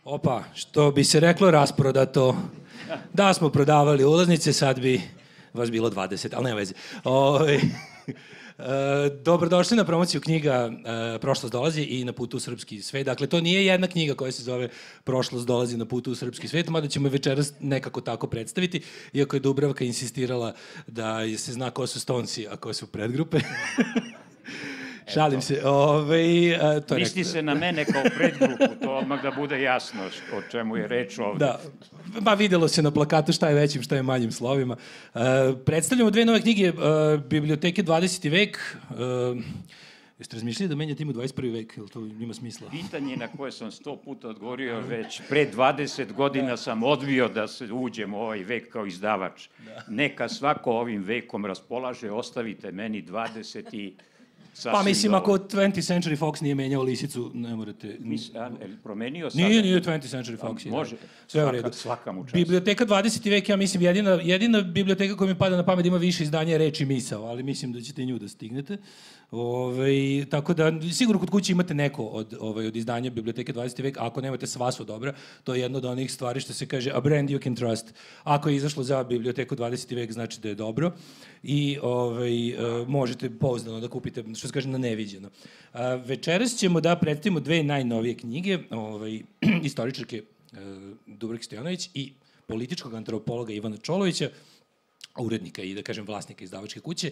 Opa, što bi se reklo rasprodato. Da smo prodavali ulaznice, sad bi vas bilo 20, ali nema veze. Dobrodošli na promociju knjiga Prošlost dolazi i Na putu u srpski svet. Dakle, to nije jedna knjiga koja se zove Prošlost dolazi na putu u srpski svet, mada ćemo je večeras nekako tako predstaviti, iako je Dubravka insistirala da se zna ko su Stonesi, a ko su predgrupe. Šalim se. Misli se na mene kao predgrupu, to odmah da bude jasno o čemu je reč ovde. Da, ba videlo se na plakatu šta je većim, šta je manjim slovima. Predstavljamo dve nove knjige Biblioteke 20. vek. Jeste razmišljali da menjate im u 21. vek, ili to ima smisla? Pitanje na koje sam 100 puta odgovorio već pre 20 godina sam odbio da se uđem u ovaj vek kao izdavač. Neka svako ovim vekom raspolaže, ostavite meni 20 i... Pa mislim, ako 20th Century Fox nije menjao lisicu, ne morate... Promenio sad? Nije 20th Century Fox. Može, svaka mu čast. Biblioteka 20. vek, ja mislim, jedina biblioteka koja mi pada na pamet ima više izdanja reči misao, ali mislim da ćete i nju da stignete. Tako da, sigurno kod kuće imate neko od izdanja Biblioteke 20. vek, a ako nemate, sva su dobra. To je jedna od onih stvari što se kaže a brand you can trust. Ako je izašlo za Biblioteku 20. vek, znači da je dobro i možete pouzdano da kupite, što se kaže, na neviđeno. Večeras ćemo da predstavimo dve najnovije knjige, istoričarke Dubravke Stojanović i političkog antropologa Ivana Čolovića, urednika i, da kažem, vlasnika izdavačke kuće.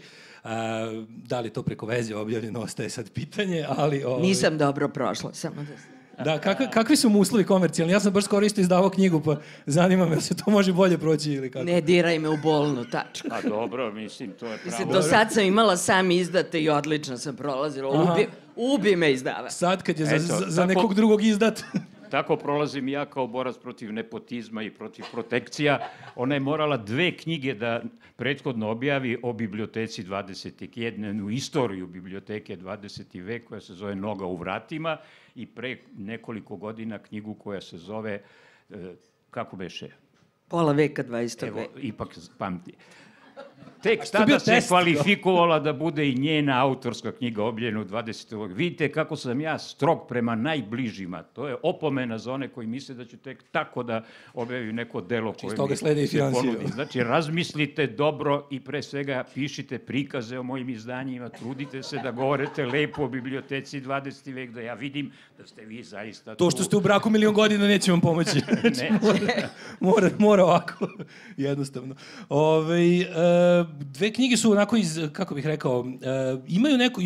Da li to preko veze objavljeno, ostaje sad pitanje, ali... Nisam dobro prošla, samo da... Da, kakvi su mu uslovi komercijalni? Ja sam baš skoro isto izdavao knjigu, pa zanima me da se to može bolje proći ili kako. Ne diraj me u bolnu tačku. A dobro, mislim, to je pravo. Do sad sam imala sam izdate i odlično sam prolazila. Ubi me izdava. Sad kad je za nekog drugog izdat... Tako prolazim ja kao borac protiv nepotizma i protiv protekcija. Ona je morala 2 knjige da prethodno objavi o biblioteci 20. jednu istoriju biblioteke 20. vek koja se zove Noga u vratima i pre nekoliko godina knjigu koja se zove, kako beše? Pola veka 20. veka. Evo, ipak pamti. Tek tada se kvalifikovala da bude i njena autorska knjiga objavljena u 20. vek. Vidite kako sam ja strog prema najbližima. To je opomena za one koji misle da ću tek tako da objavim neko delo koje mi se ponudi. Znači, razmislite dobro i pre svega pišite prikaze o mojim izdanjima, trudite se da govorite lepo o biblioteci 20. vek, da ja vidim da ste vi zaista... To što ste u braku 1.000.000 godina neće vam pomoći. Mora ovako, jednostavno. Dve knjige su onako kako bih rekao, imaju neku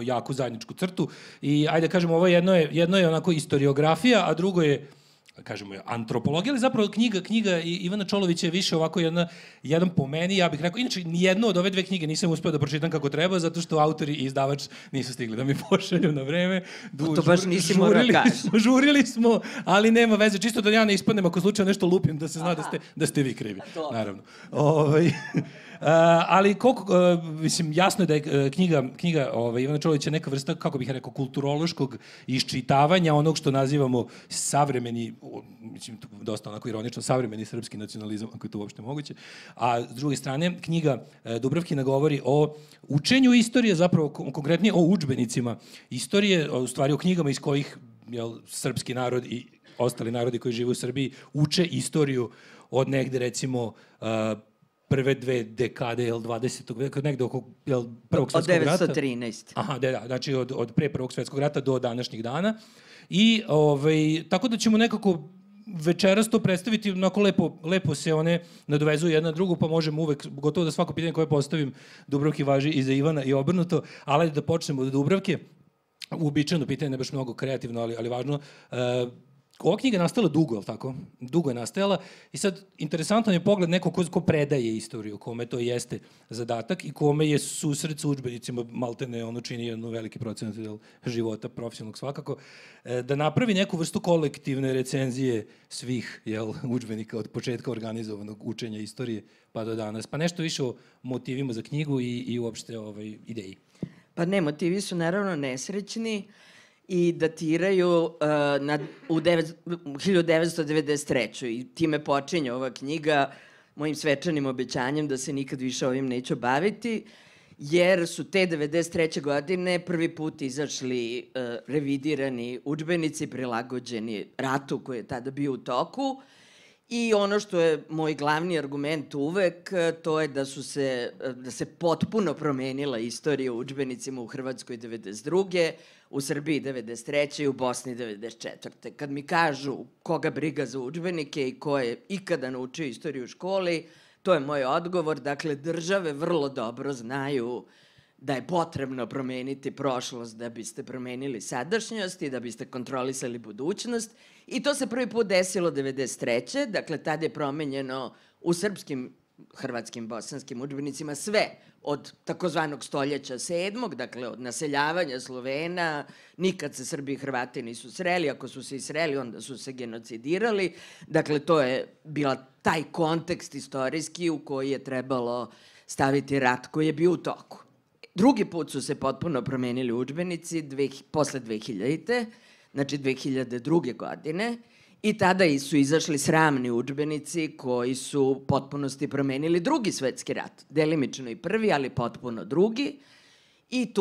jako zajedničku crtu i, ajde kažemo, ovo jedno je onako istoriografija, a drugo je, kažemo, antropologija, ali zapravo knjiga Ivana Čolovića je više ovako jedan po meni, ja bih rekao, inače, nijednu od ove dve knjige nisam uspeo da pročitam kako treba, zato što autori i izdavač nisu stigli da mi pošalju na vreme. To baš nisi morao kaži. Žurili smo, ali nema veze, čisto da ja ne ispadnem ako slučajno nešto lupim, da se zna da ste vi krivi, naravno. Ali koliko, mislim, jasno je da je knjiga Ivana Čolovića neka vrsta, kako bih rekao, kulturološkog iščitavanja onog što nazivamo savremeni, mislim, dosta onako ironično, savremeni srpski nacionalizam, ako je to uopšte moguće. A s druge strane, knjiga Dubravkina govori o učenju istorije, zapravo konkretnije o udžbenicima istorije, u stvari o knjigama iz kojih srpski narod i ostali narodi koji žive u Srbiji uče istoriju od negde, recimo, prve 2 dekade 20. veka, negde oko Prvog svetskog rata. Od 913. Aha, da, znači od pre Prvog svetskog rata do današnjih dana. I tako da ćemo nekako večeras to predstaviti, onako lepo se one nadovezuju jedna na drugu, pa možemo uvek, gotovo da svako pitanje koje postavim Dubravki važi i za Ivana i obrnuto, ali da počnemo od Dubravke. Uobičajeno pitanje, ne baš mnogo kreativno, ali važno. Ova knjiga je nastala dugo, je li tako? Dugo je nastajala i sad interesantan je pogled neko ko predaje istoriju, kome to jeste zadatak i kome je susret sa udžbenicima, maltene ono čini jednu veliki procenat života, profesionalnog svakako, da napravi neku vrstu kolektivne recenzije svih udžbenika od početka organizovanog učenja istorije pa do danas. Pa nešto više o motivima za knjigu i uopšte ideji. Pa ne, motivi su naravno nesrećni i datiraju u 1993. I time počinje ova knjiga mojim svečanim obećanjem da se nikad više ovim neću baviti. jer su te 93. godine prvi put izašli revidirani udžbenici prilagođeni ratu koji je tada bio u toku. I ono što je moj glavni argument uvek, to je da se potpuno promenila istorija u udžbenicima u Hrvatskoj 92. u Srbiji 93. i u Bosni 94. Kad mi kažu koga briga za udžbenike i ko je ikada naučio istoriju u školi, to je moj odgovor. Dakle, države vrlo dobro znaju da je potrebno promeniti prošlost da biste promenili sadašnjost i da biste kontrolisali budućnost. I to se prvi put desilo 93. Dakle, tad je promenjeno u srpskim, hrvatskim, bosanskim udžbenicima sve od takozvanog stoljeća 7. Dakle, od naseljavanja Slovena, nikad se Srbi i Hrvati nisu sreli, ako su se i sreli, onda su se genocidirali. Dakle, to je bila taj kontekst istorijski u koji je trebalo staviti rat koji je bio u toku. Drugi put su se potpuno promenili udžbenici posle 2000. Znači 2002. godine i tada su izašli sramni udžbenici koji su u potpunosti promenili Drugi svetski rat. Delimično i prvi, ali potpuno drugi. I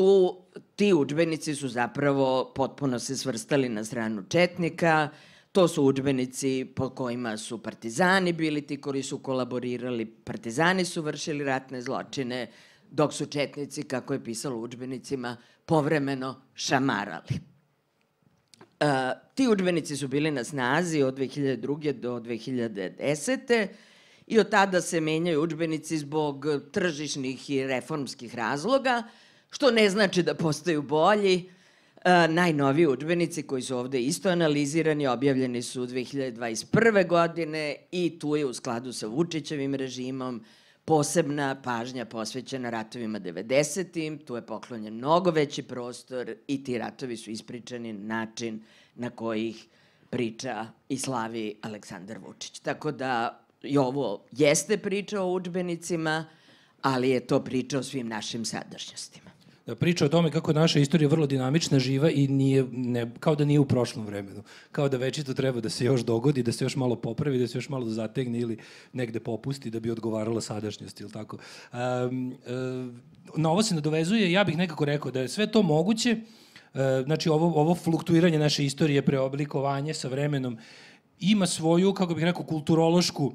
ti udžbenici su zapravo potpuno se svrstali na stranu četnika. To su udžbenici po kojima su partizani bili ti koji su kolaborirali. Partizani su vršili ratne zločine, dok su četnici, kako je pisalo u udžbenicima, povremeno šamarali. Ti udžbenici su bili na snazi od 2002. do 2010. i od tada se menjaju udžbenici zbog tržišnih i reformskih razloga, što ne znači da postaju bolji. Najnoviji udžbenici koji su ovde isto analizirani, objavljeni su 2021. godine i tu je u skladu sa Vučićevim režimom posebna pažnja posvećena ratovima 90-im, tu je poklonjen mnogo veći prostor i ti ratovi su ispričani na način na koji ih priča i slavi Aleksandar Vučić. Tako da i ovo jeste priča o udžbenicima, ali je to priča o svim našim sadašnjostima. Priča o tome kako je naša istorija vrlo dinamična, živa i kao da nije u prošlom vremenu. Kao da večito treba da se još dogodi, da se još malo popravi, da se još malo zategne ili negde popusti da bi odgovarala sadašnjosti, ili tako. Na ovo se nadovezuje, ja bih nekako rekao da je sve to moguće, znači ovo fluktuiranje naše istorije, preoblikovanje sa vremenom, ima svoju, kako bih rekao, kulturološku.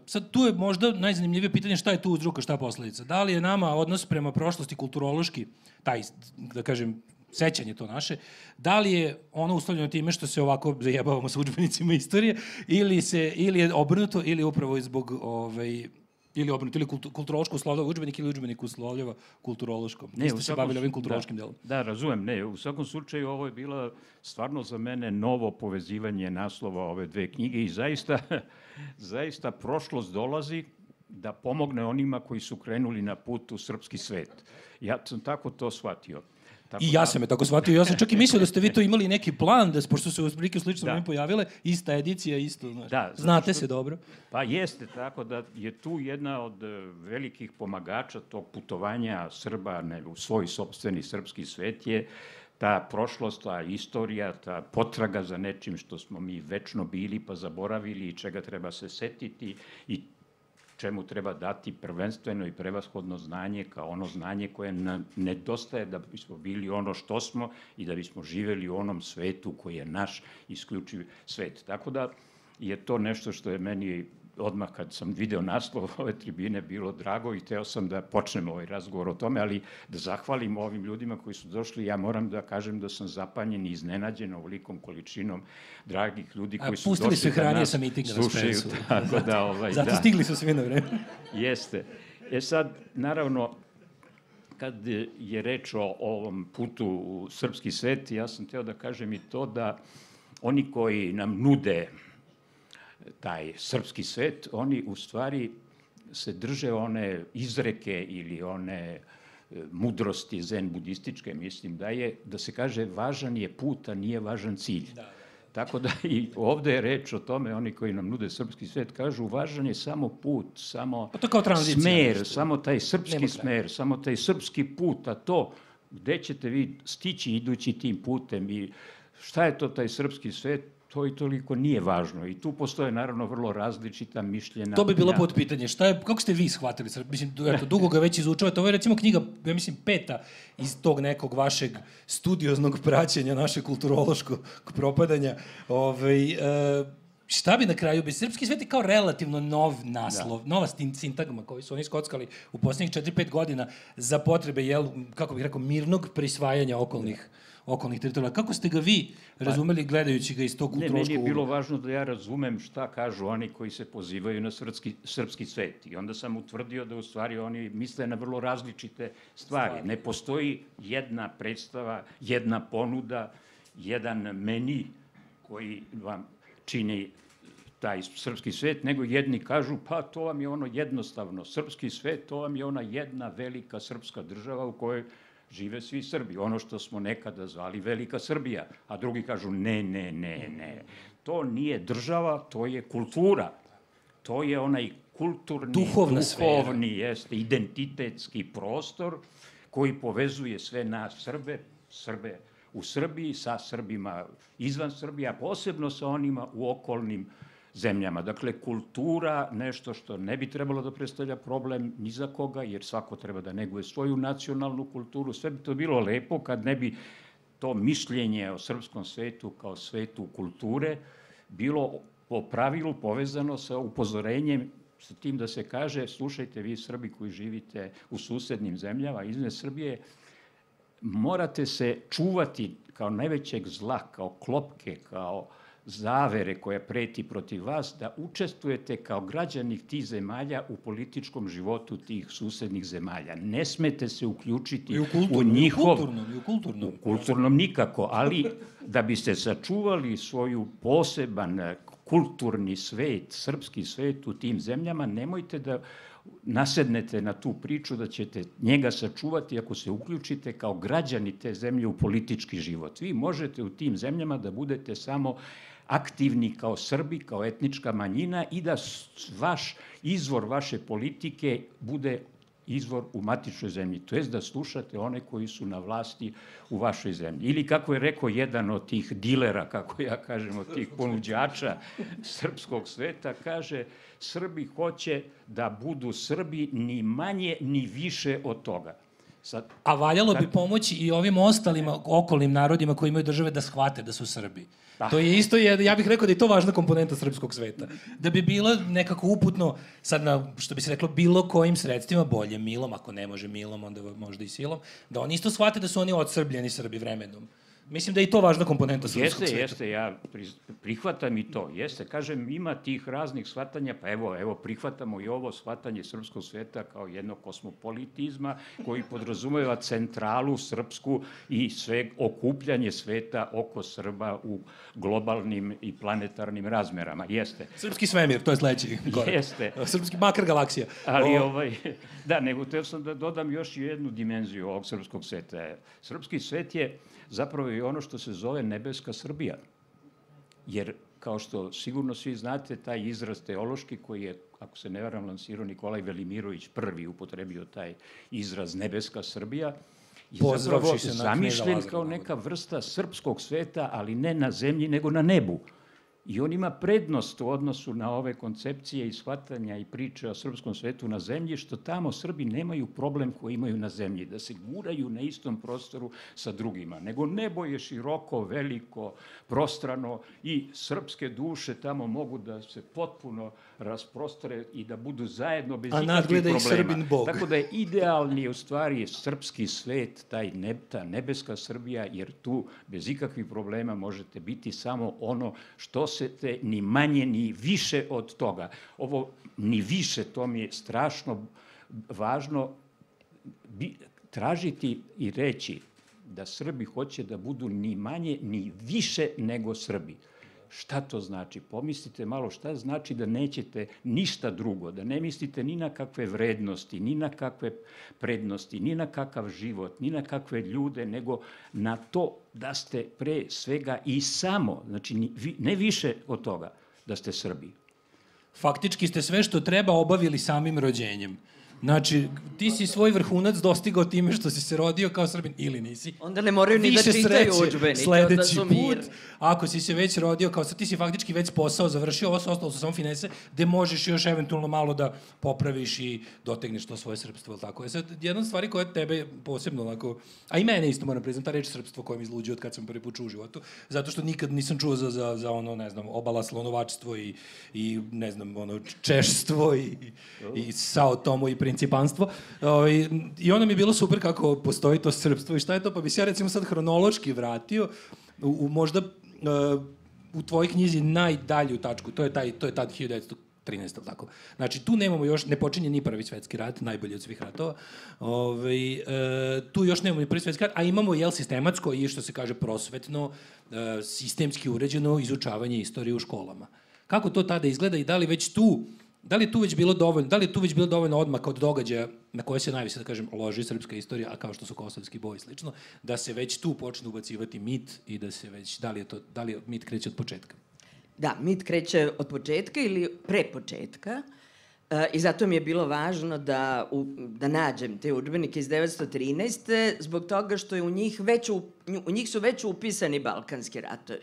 Sad tu je možda najzanimljivije pitanje šta je tu uzroka, šta posledica. Da li je nama odnos prema prošlosti kulturološki, taj, da kažem, sećanje to naše, da li je ono uslovljeno time što se ovako zajebavamo sa udžbenicima istorije ili je obrnuto ili upravo zbog ili obrnuto, ili kulturološko uslovljava udžbenik ili udžbenik uslovljava kulturološkom. Vi ste se bavili ovim kulturološkim delom. Da, razumem. Ne, u svakom slučaju ovo je bila stvarno za mene novo povezivanje naslova ove dve knjige i zaista prošlost dolazi da pomogne onima koji su krenuli na put u srpski svet. Ja sam tako to shvatio. I ja sam je tako shvatio. Ja sam čak i mislio da ste vi to imali neki plan, da pošto se u prilike slično vreme pojavile, ista edicija, isto. Znate se dobro. Pa jeste, tako da je tu jedna od velikih pomagača tog putovanja Srba u svoj sopstveni srpski svet je ta prošlost, ta istorija, ta potraga za nečim što smo mi večno bili pa zaboravili i čega treba se setiti i čemu treba dati prvenstveno i prevashodno znanje kao ono znanje koje nam nedostaje da bismo bili ono što smo i da bismo živeli u onom svetu koji je naš isključiv svet. Tako da je to nešto što je meni odmah kad sam video naslov ove tribine bilo drago i hteo sam da počnem ovaj razgovor o tome, ali da zahvalim ovim ljudima koji su došli. Ja moram da kažem da sam zapanjen i iznenađen ovolikom količinom dragih ljudi koji su došli da hranije nas sa mitinga slušaju. Zato stigli su svi na vreme. Jeste. Sad, naravno, kad je reč o ovom putu u srpski svet, ja sam hteo da kažem i to da oni koji nam nude taj srpski svet, oni u stvari se drže one izreke ili one mudrosti zen budističke, mislim da se kaže važan je put, a nije važan cilj. Tako da i ovde je reč o tome, oni koji nam nude srpski svet kažu važan je samo put, samo smer, samo taj srpski smer, samo taj srpski put, a to gde ćete vi stići idući tim putem i šta je to taj srpski svet, to i toliko nije važno. I tu postoje, naravno, vrlo različita mišljenja. To bi bilo potpitanje. Kako ste vi shvatili? Mislim, eto, dugo ga već izučavate. Ovo je, recimo, knjiga, ja mislim, 5. iz tog nekog vašeg studioznog praćenja, našeg kulturološkog propadanja. Šta bi na kraju... Srpski svet je kao relativno nov naslov, nova sintagma koju su oni skockali u poslednjih 4-5 godina za potrebe, kako bih rekao, mirnog prisvajanja okolnih teritorija. Kako ste ga vi razumeli gledajući ga iz tog kulturološkog... Ne, meni je bilo važno da ja razumem šta kažu oni koji se pozivaju na srpski svet. I onda sam utvrdio da u stvari oni misle na vrlo različite stvari. Ne postoji jedna predstava, jedna ponuda, jedan meni koji vam čini taj srpski svet, nego jedni kažu, pa to vam je ono jednostavno. Srpski svet, to vam je ona jedna velika srpska država u kojoj žive svi Srbi. Ono što smo nekada zvali Velika Srbija. A drugi kažu, ne. To nije država, to je kultura. To je onaj kulturni, duhovni, identitetski prostor koji povezuje sve nas Srbe u Srbiji, sa Srbima izvan Srbije, a posebno sa onima u okolnim zemljama. Dakle, kultura, nešto što ne bi trebalo da predstavlja problem ni za koga, jer svako treba da neguje svoju nacionalnu kulturu. Sve bi to bilo lepo kad ne bi to mišljenje o srpskom svetu kao svetu kulture bilo po pravilu povezano sa upozorenjem, sa tim da se kaže, slušajte vi Srbi koji živite u susednim zemljama, izvan Srbije, morate se čuvati kao najvećeg zla, kao klopke, kao zavere koja preti protiv vas, da učestvujete kao građani tih zemalja u političkom životu tih susednih zemalja. Ne smete se uključiti u njihov... U kulturnom nikako, ali da biste sačuvali svoju poseban kulturni svet, srpski svet u tim zemljama, nemojte da nasednete na tu priču da ćete njega sačuvati ako se uključite kao građani te zemlje u politički život. Vi možete u tim zemljama da budete samo aktivni kao Srbi, kao etnička manjina i da izvor vaše politike bude izvor u matičnoj zemlji, to jest da slušate one koji su na vlasti u vašoj zemlji. Ili kako je rekao jedan od tih dilera, kako ja kažem, od tih ponuđača srpskog sveta, kaže, Srbi hoće da budu Srbi ni manje ni više od toga. A valjalo bi pomoći i ovim ostalima okolnim narodima koji imaju države da shvate da su Srbi. To je isto, ja bih rekao da je to važna komponenta srpskog sveta. Da bi bila nekako uputno, sad na, što bi se reklo, bilo kojim sredstvima, bolje milom, ako ne može milom, onda možda i silom, da oni isto shvate da su oni odsrbljeni Srbi vremenom. Mislim da je i to važna komponenta srpskog sveta. Jeste, ja prihvatam i to. Jeste, kažem, ima tih raznih shvatanja, pa evo, prihvatamo i ovo shvatanje srpskog sveta kao jednog kosmopolitizma koji podrazumeva centralu srpsku i sve okupljanje sveta oko Srba u globalnim i planetarnim razmerama. Jeste. Srpski svemir, to je sledeći korak. Jeste. Srpski makar galaksija. Ali, da, nego teo sam da dodam još jednu dimenziju ovog srpskog sveta. Srpski svet je zapravo i ono što se zove nebeska Srbija. Jer, kao što sigurno svi znate, taj izraz teološki koji je, ako se ne varam, lansirao Nikolaj Velimirović prvi upotrebio taj izraz nebeska Srbija, je zapravo zamišljen kao neka vrsta srpskog sveta, ali ne na zemlji, nego na nebu. I on ima prednost u odnosu na ove koncepcije i shvatanja i priče o srpskom svetu na zemlji, što tamo Srbi nemaju problem koji imaju na zemlji, da se guraju na istom prostoru sa drugima. Nego nebo je široko, veliko, prostrano i srpske duše tamo mogu da se potpuno rasprostre i da budu zajedno bez ikakvih problema. I Srbin Bog. Tako da je idealni u stvari srpski svet, ta nebeska Srbija, jer tu bez ikakvih problema možete biti samo ono što te ni manje ni više od toga. Ovo ni više, to mi je strašno važno tražiti i reći da Srbi hoće da budu ni manje ni više nego Srbi. Šta to znači? Pomislite malo šta znači da nećete ništa drugo, da ne mislite ni na kakve vrednosti, ni na kakve prednosti, ni na kakav život, ni na kakve ljude, nego na to da ste pre svega i samo, znači ne više od toga, da ste Srbi. Faktički ste sve što treba obavili samim rođenjem. Znači, ti si svoj vrhunac dostigao time što si se rodio kao Srbin ili nisi. Onda ne moraju ni da čitaju udžbenike, onda su mirni. Ako si se već rodio kao ti si faktički već posao završio, ovo su ostalo su samo finese, gde možeš još eventualno malo da popraviš i dotegneš to svoje srpstvo, ili tako. Sad, jedna od stvari koja tebe posebno onako, a i mene isto moram priznam, ta reč srpstvo koja mi izluđuje od kad sam prvi put čuo u životu, zato što nikad nisam čuo za ono, ne znam, obala slonovačstvo i ne znam, ono, češstvo i Sao Tomo i principanstvo. I onda mi je bilo super kako postoji to srpstvo i šta je to, pa bi se ja recimo sad hronološki vratio u možda u tvojoj knjizi najdalju tačku, to je tad 1913, tako. Znači, tu nemamo još, ne počinje ni Prvi svetski rat, najbolji od svih ratova, tu još nemamo ni Prvi svetski rat, a imamo, sistematsko i što se kaže prosvetno, sistemski uređeno izučavanje istorije u školama. Kako to tada izgleda i da li je tu već bilo dovoljno odmaka od događaja na koje se najviše, da kažem, loži srpska istorija, a kao što su kosovski boj i slično, da se već tu počne ubacivati mit i da se već, da li mit kreće od početka? Da, mit kreće od početka ili pre početka i zato mi je bilo važno da nađem te udžbenike iz 1913. zbog toga što je u njih su već upisani Balkanski ratovi.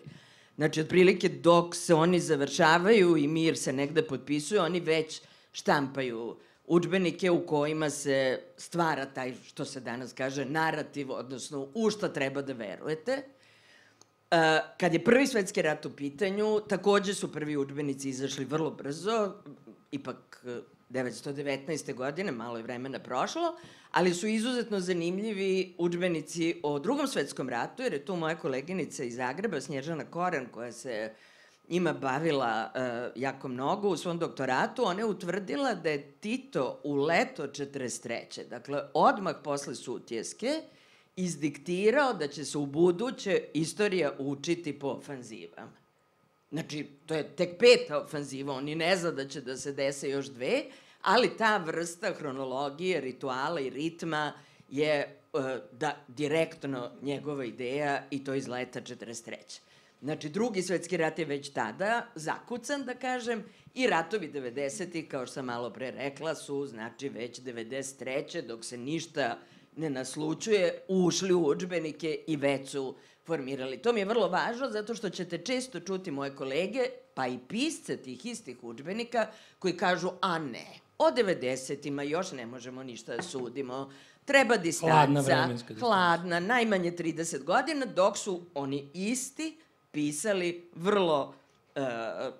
Znači, otprilike dok se oni završavaju i mir se negde potpisuje, oni već štampaju udžbenike u kojima se stvara taj, što se danas kaže, narativ, odnosno u šta treba da verujete. Kad je Prvi svetski rat u pitanju, takođe su prvi udžbenici izašli vrlo brzo, ipak 1919. godine, malo je vremena prošlo, ali su izuzetno zanimljivi udžbenici o Drugom svetskom ratu, jer je tu moja koleginica iz Zagreba, Snježana Koran, koja se njima bavila jako mnogo u svom doktoratu. Ona je utvrdila da je Tito u leto 1943. Dakle, odmah posle Sutjeske, izdiktirao da će se u buduće istorija učiti po ofanzivama. Znači, to je tek 5. ofanziva, oni ne zna da će da se dese još 2, ali ta vrsta hronologije, rituala i ritma je direktno njegova ideja i to iz leta 1943. Znači, Drugi svetski rat je već tada zakucan, da kažem, i ratovi 90-ih, kao što sam malo pre rekla, su, znači, već 93. dok se ništa ne naslučuje, ušli u udžbenike i već su formirali. To mi je vrlo važno, zato što ćete često čuti moje kolege, pa i pisce tih istih udžbenika, koji kažu, a ne, o 90-ima još ne možemo ništa da sudimo, treba distanca, hladna, najmanje 30 godina, dok su oni isti pisali vrlo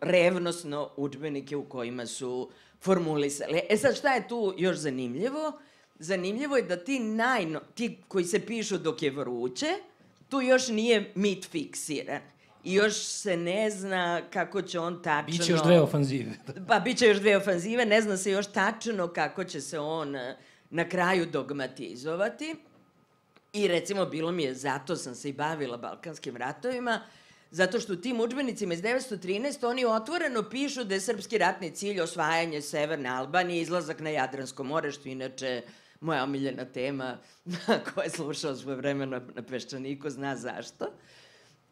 revnosno udžbenike u kojima su formulisali. Sad, šta je tu još zanimljivo? Zanimljivo je da ti koji se pišu dok je vruće, tu još nije mit fiksiran. I još se ne zna kako će on tačno... Biće još 2 ofanzive. Pa, biće još 2 ofanzive, ne zna se još tačno kako će se on na kraju dogmatizovati. I recimo, bilo mi je, zato sam se i bavila Balkanskim ratovima, zato što u tim udžbenicima iz 1913 oni otvoreno pišu da je srpski ratni cilj osvajanje Severne Albanije, izlazak na Jadransko more, što inače moja omiljena tema, koja je slušao svoje vremena na Peščaniku, zna zašto.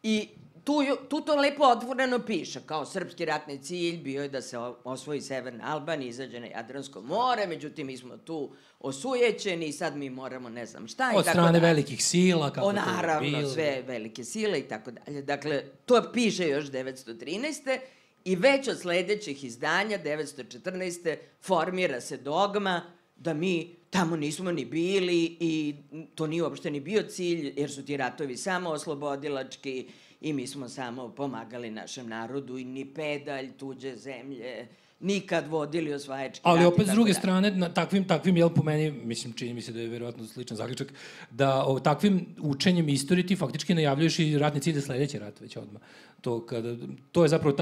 I tu to lepo otvoreno piše, kao srpski ratni cilj bio je da se osvoji Severna Albanija, izađe na Jadransko more, međutim mi smo tu osujećeni i sad mi moramo ne znam šta. Od strane velikih sila, kako to je bilo. Naravno, sve velike sile i tako dalje. Dakle, to piše još 1913. I već od sledećih izdanja, 1914. formira se dogma da mi tamo nismo ni bili i to nije uopšte ni bio cilj, jer su ti ratovi samo oslobodilački i mi smo samo pomagali našem narodu i ni pedalj tuđe zemlje, nikad vodili osvajački rat. Ali opet s druge strane, takvim, jel po meni, mislim, čini mi se da je verovatno sličan zaključak, da takvim učenjem istorije ti faktički najavljuješ i ratni cilj za sledeći rat već odmah. To je zapravo,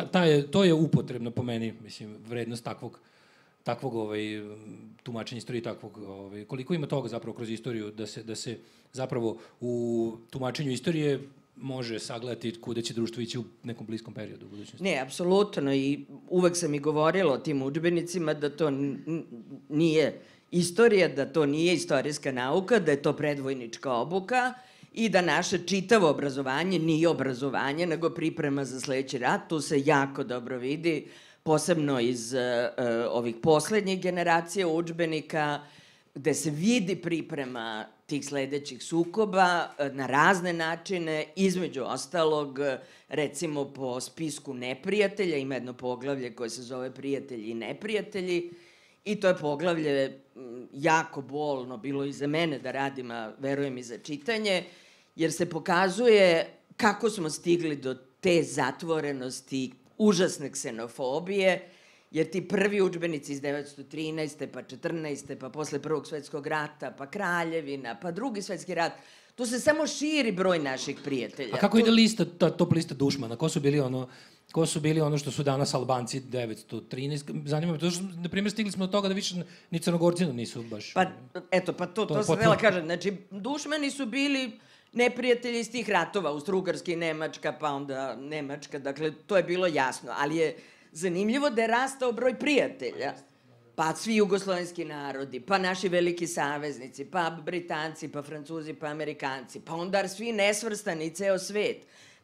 to je upotrebno po meni, mislim, vrednost takvog tumačenja istorije, koliko ima toga zapravo kroz istoriju, da se zapravo u tumačenju istorije može sagledati kuda će društvo ići u nekom bliskom periodu u budućnosti. Ne, apsolutno, i uvek sam i govorila o tim udžbenicima da to nije istorija, da to nije istorijska nauka, da je to predvojnička obuka i da naše čitavo obrazovanje nije obrazovanje, nego priprema za sledeći rat. Tu se jako dobro vidi, posebno iz ovih poslednjih generacija udžbenika, gde se vidi priprema tih sledećih sukoba na razne načine, između ostalog, recimo po spisku neprijatelja, ima jedno poglavlje koje se zove Prijatelji i neprijatelji, i to je poglavlje jako bolno bilo i za mene da radim, a verujem i za čitanje, jer se pokazuje kako smo stigli do te zatvorenosti, užasne ksenofobije, jer ti prvi udžbenici iz 1913. pa 14. pa posle Prvog svetskog rata, pa Kraljevina, pa Drugi svetski rat, tu se samo širi broj naših prijatelja. A kako ide lista, ta top lista dušmana? Ko su bili ono što su danas Albanci 913? Zanima me, to što, na primjer, stigli smo do toga da više ni Crnogorci nisu baš... Pa, eto, pa to sam htjela kažem. Znači, dušmani su bili neprijatelji iz tih ratova, Austro-Ugarska i Nemačka, pa onda Nemačka, dakle, to je bilo jasno, ali je zanimljivo da je rastao broj prijatelja, pa svi jugoslovenski narodi, pa naši veliki saveznici, pa Britanci, pa Francuzi, pa Amerikanci, pa onda svi nesvrstani, ceo svet.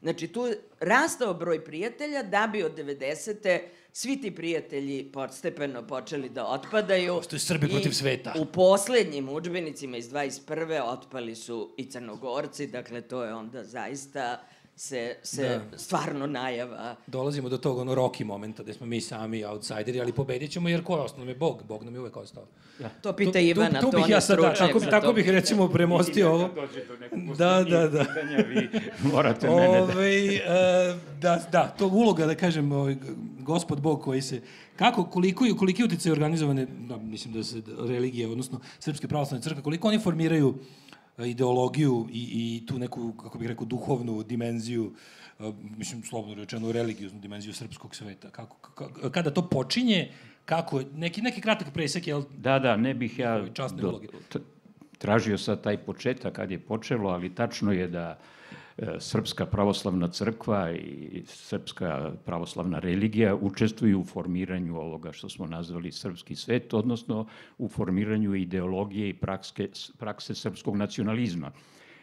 Znači, tu je rastao broj prijatelja da bi od 90. svi ti prijatelji postepeno počeli da otpadaju. Postoje Srbi protiv sveta. U poslednjim udžbenicima iz 21. otpali su i Crnogorci, dakle, to je onda zaista se stvarno najava. Dolazimo do tog Rocky momenta gde smo mi sami outsideri, ali pobedit ćemo jer ko je ostao? Nam je Bog. Bog nam je uvek ostao. To pita Ivana, to on je stručnjak. Tako bih recimo premostio ovo. Dođe do nekog posljednijeg pitanja, vi morate mene Da, to uloga, da kažem, gospod Bog koji se... Koliki utjecaj organizovane, mislim da se religije, odnosno Srpske pravoslavne crkve, koliko oni formiraju ideologiju i tu neku, kako bih rekao, duhovnu dimenziju, mislim, slobodno rečeno, religioznu dimenziju srpskog sveta. Kada to počinje, kako, neki kratak presek, jel? Da, ne bih ja tražio sad taj početak kad je počelo, ali tačno je da Srpska pravoslavna crkva i Srpska pravoslavna religija učestvuju u formiranju ovoga što smo nazvali srpski svet, odnosno u formiranju ideologije i prakse srpskog nacionalizma.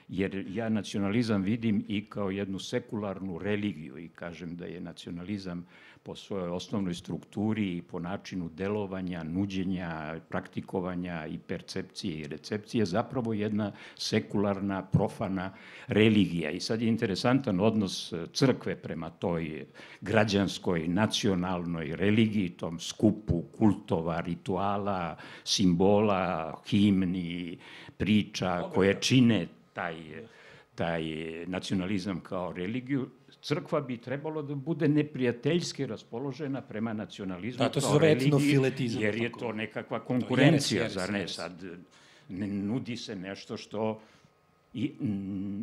Jer ja nacionalizam vidim i kao jednu sekularnu religiju i kažem da je nacionalizam po svojoj osnovnoj strukturi i po načinu delovanja, nuđenja, praktikovanja i percepcije i recepcije zapravo jedna sekularna, profana religija. I sad je interesantan odnos crkve prema toj građanskoj, nacionalnoj religiji, tom skupu kultova, rituala, simbola, himni, priča koje čine taj nacionalizam kao religiju. Crkva bi trebalo da bude neprijateljski raspoložena prema nacionalizmu kao religiji, jer je to nekakva konkurencija, zar ne? Sad ne nudi se nešto što... I,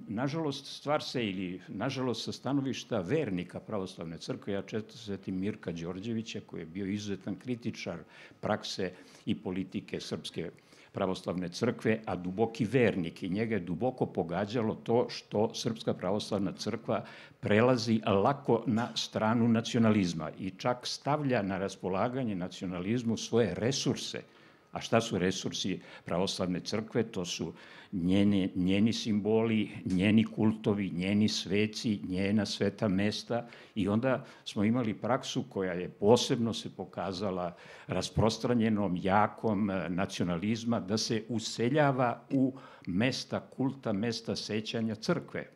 nažalost, nažalost, sa stanovišta vernika pravoslavne crkve, ja često setim Mirka Đorđevića, koji je bio izuzetan kritičar prakse i politike Srpske pravoslavne crkve, a duboki vernik, i njega je duboko pogađalo to što Srpska pravoslavna crkva prelazi lako na stranu nacionalizma i čak stavlja na raspolaganje nacionalizmu svoje resurse. A šta su resursi pravoslavne crkve? To su njeni simboli, njeni kultovi, njeni sveci, njena sveta mesta, i onda smo imali praksu koja je posebno se pokazala rasprostranjenom, jakom nacionalizma, da se useljava u mesta kulta, mesta sećanja crkve.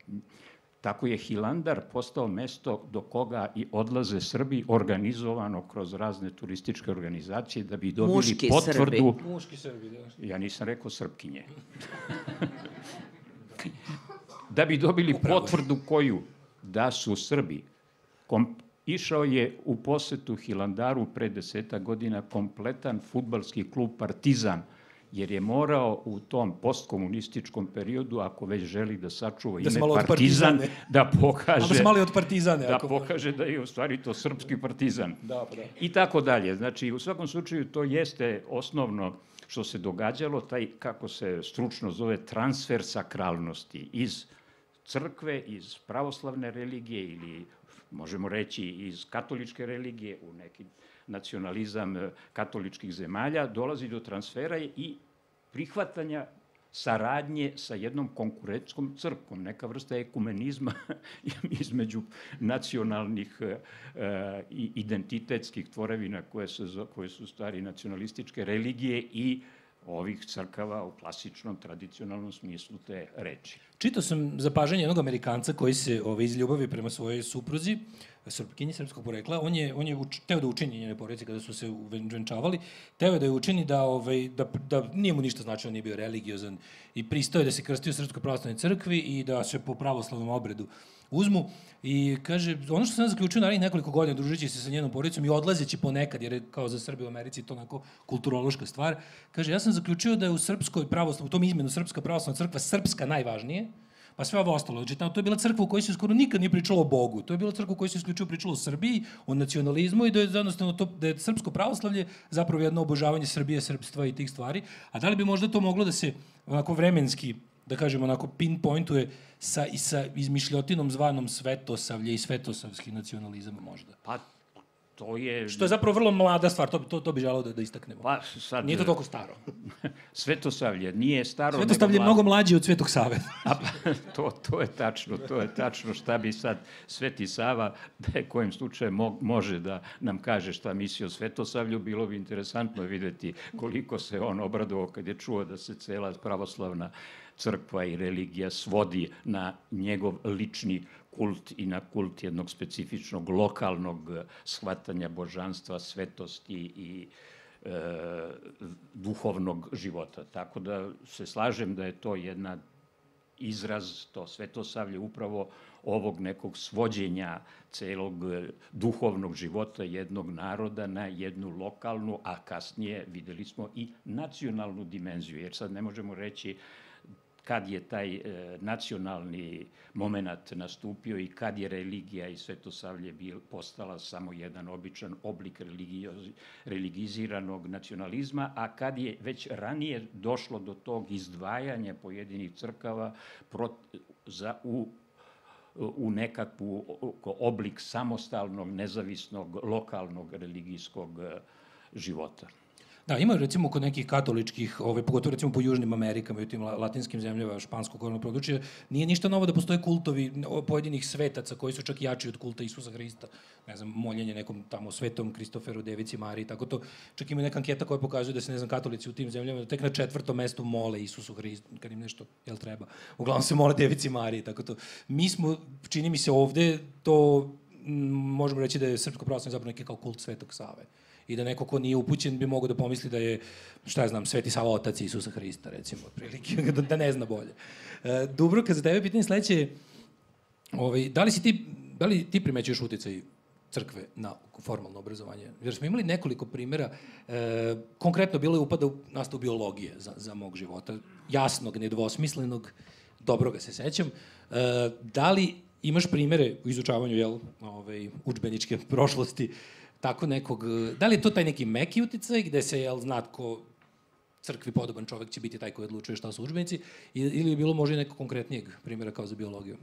Tako je Hilandar postao mesto do koga i odlaze Srbi, organizovano kroz razne turističke organizacije da bi dobili potvrdu... Muški Srbi, da. Ja nisam rekao Srpkinje. Da bi dobili potvrdu koju? Da su Srbi. Išao je u posetu Hilandaru pre 10 godina kompletan fudbalski klub Partizan, jer je morao u tom postkomunističkom periodu, ako već želi da sačuva ime Partizan, da pokaže da je u stvari to srpski Partizan. I tako dalje. Znači, u svakom slučaju to jeste osnovno što se događalo, taj, kako se stručno zove, transfer sakralnosti iz crkve, iz pravoslavne religije ili, možemo reći, iz katoličke religije u neki nacionalizam katoličkih zemalja, dolazi do transfera i prihvatanja saradnje sa jednom konkurentskom crkvom, neka vrsta ekumenizma između nacionalnih i identitetskih tvorevina koje su stvari nacionalističke religije i ovih crkava u klasičnom, tradicionalnom smislu te reči. Čitao sam zapažanje jednog Amerikanca koji se iz ljubavi prema svojoj supruzi, Srpkinji srpskog porekla, on je teo da učini njene porodice kada su se venčavali, teo je da je učini da nije mu ništa značilo, nije bio religiozan i pristao je da se krsti u Srpskoj pravoslavnoj crkvi i da se po pravoslavnom obredu uzmu. I kaže, ono što sam zaključio narednih nekoliko godina družeći se sa njenom porodicom i odlazeći ponekad, jer je kao za Srbe u Americi to onako kulturološka stvar, kaže, ja sam zaključio da je u Srpskoj pravoslavnoj, u tom izmenu Srpska pravoslavna crkva srpska najvažnije, pa sve ovo ostalo. Znači, to je bila crkva u kojoj se skoro nikad nije pričalo o Bogu. To je bila crkva u kojoj se isključivo pričalo o Srbiji, o nacionalizmu i da je jednostavno to, da je srpsko pravoslavlje zapravo jedno obožavanje Srbije, srpstva i tih stvari. A da li bi možda to moglo da se onako vremenski, da kažemo, onako pinpointuje sa izmišljotinom zvanom svetosavlje i svetosavski nacionalizam možda? Pa, to je... Što je zapravo vrlo mlada stvar, to bi želao da istaknemo. Pa, sad... Nije to toliko staro. Svetosavlje nije staro... Svetosavlje je mnogo mlađe od Svetog Save. To je tačno šta bi sad Sveti Sava, da je kojim slučajem može da nam kaže šta misli o Svetosavlju, bilo bi interesantno videti koliko se on obradovao kad je čuo da se cela pravoslavna crkva i religija svodi na njegov lični kult i na kult jednog specifičnog lokalnog shvatanja božanstva, svetosti i duhovnog života. Tako da se slažem da je to jedna izraz, to svetosavlje upravo ovog nekog svođenja celog duhovnog života jednog naroda na jednu lokalnu, a kasnije videli smo i nacionalnu dimenziju, jer sad ne možemo reći kad je taj nacionalni moment nastupio i kad je religija i svetosavlje postala samo jedan običan oblik religiziranog nacionalizma, a kad je već ranije došlo do tog izdvajanja pojedinih crkava u nekakvu oblik samostalnog, nezavisnog, lokalnog religijskog života. Da, ima recimo kod nekih katoličkih, pogotovo recimo po Južnim Amerikama i u tim latinskim zemljama španskog govornog područja, nije ništa novo da postoje kultovi pojedinih svetaca koji su čak jači od kulta Isusa Hrista. Ne znam, moljenje nekom tamo svetom Kristoferu, Devici Mariji, tako to. Čak ima neka anketa koja pokazuje da se, ne znam, katolici u tim zemljama tek na 4. mestu mole Isusu Hristu, kad im nešto, jel treba. Uglavnom se mole Devici Mariji, tako to. Mi smo, čini mi se ovde, to možemo reći da je Srpsko pravoslavlje zapravo neki kao kult Svetog Save. I da neko ko nije upućen bi mogao da pomisli da je, šta ja znam, Sveti Sava otac Isusa Hrista, recimo, otprilike, da ne zna bolje. Dubravka, za tebe pitanje sledeće, da li ti primećuješ uticaj crkve na formalno obrazovanje? Jer smo imali nekoliko primjera, konkretno bilo je upada u nastavu biologije za mog života, jasnog, nedvosmislenog, dobroga se sećam. Da li imaš primere u izučavanju udžbeničke prošlosti tako nekog, da li je to taj neki meki uticaj gde se, zna ko crkvi podoban čovek će biti taj koji odlučuje šta su udžbenici, ili je bilo možda i nekog konkretnijeg primjera kao za biologiju?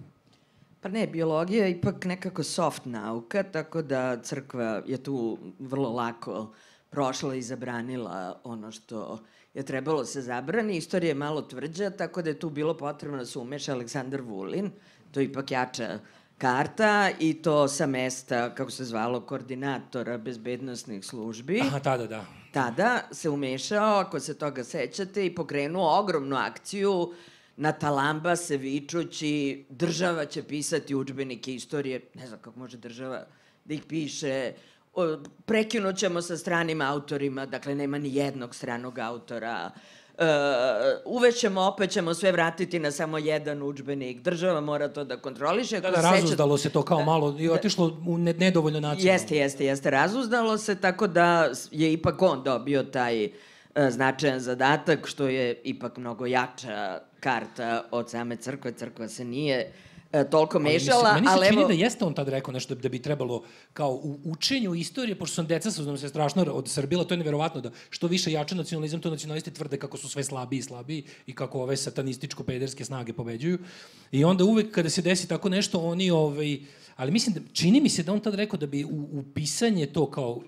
Pa ne, biologija je ipak nekako soft nauka, tako da crkva je tu vrlo lako prošla i zabranila ono što je trebalo se zabrani. Istorija je malo tvrđa, tako da je tu bilo potrebno da se umeša Aleksandar Vulin, to je ipak jača karta i to sa mesta, kako se zvalo, koordinatora bezbednosnih službi. Aha, tada. Tada se umešao, ako se toga sećate, i pokrenuo ogromnu akciju na talamba se vičući država će pisati udžbenike istorije. Ne znam kako može država da ih piše. Prekinut ćemo sa stranim autorima, dakle nema ni jednog stranog autora. Uvešćemo, opet ćemo sve vratiti na samo jedan udžbenik. Država mora to da kontroliše. Da, razuzdalo se to kao malo i otišlo u nedovoljno nacionalno. Jeste, razuzdalo se, tako da je ipak on dobio taj značajan zadatak, što je ipak mnogo jača karta od same crkve. Crkva se nije toliko mešala, ali meni se čini da jeste on tad rekao nešto da bi trebalo kao u učenju istorije, pošto sam deca su nam se strašno odsrbila, to je neverovatno da što više jače nacionalizam, to nacionalisti tvrde kako su sve slabiji i slabiji i kako ove satanističko-pederske snage pobeđuju. I onda uvek kada se desi tako nešto, oni, ali mislim da, čini mi se da on tad rekao da bi u pisanje to kao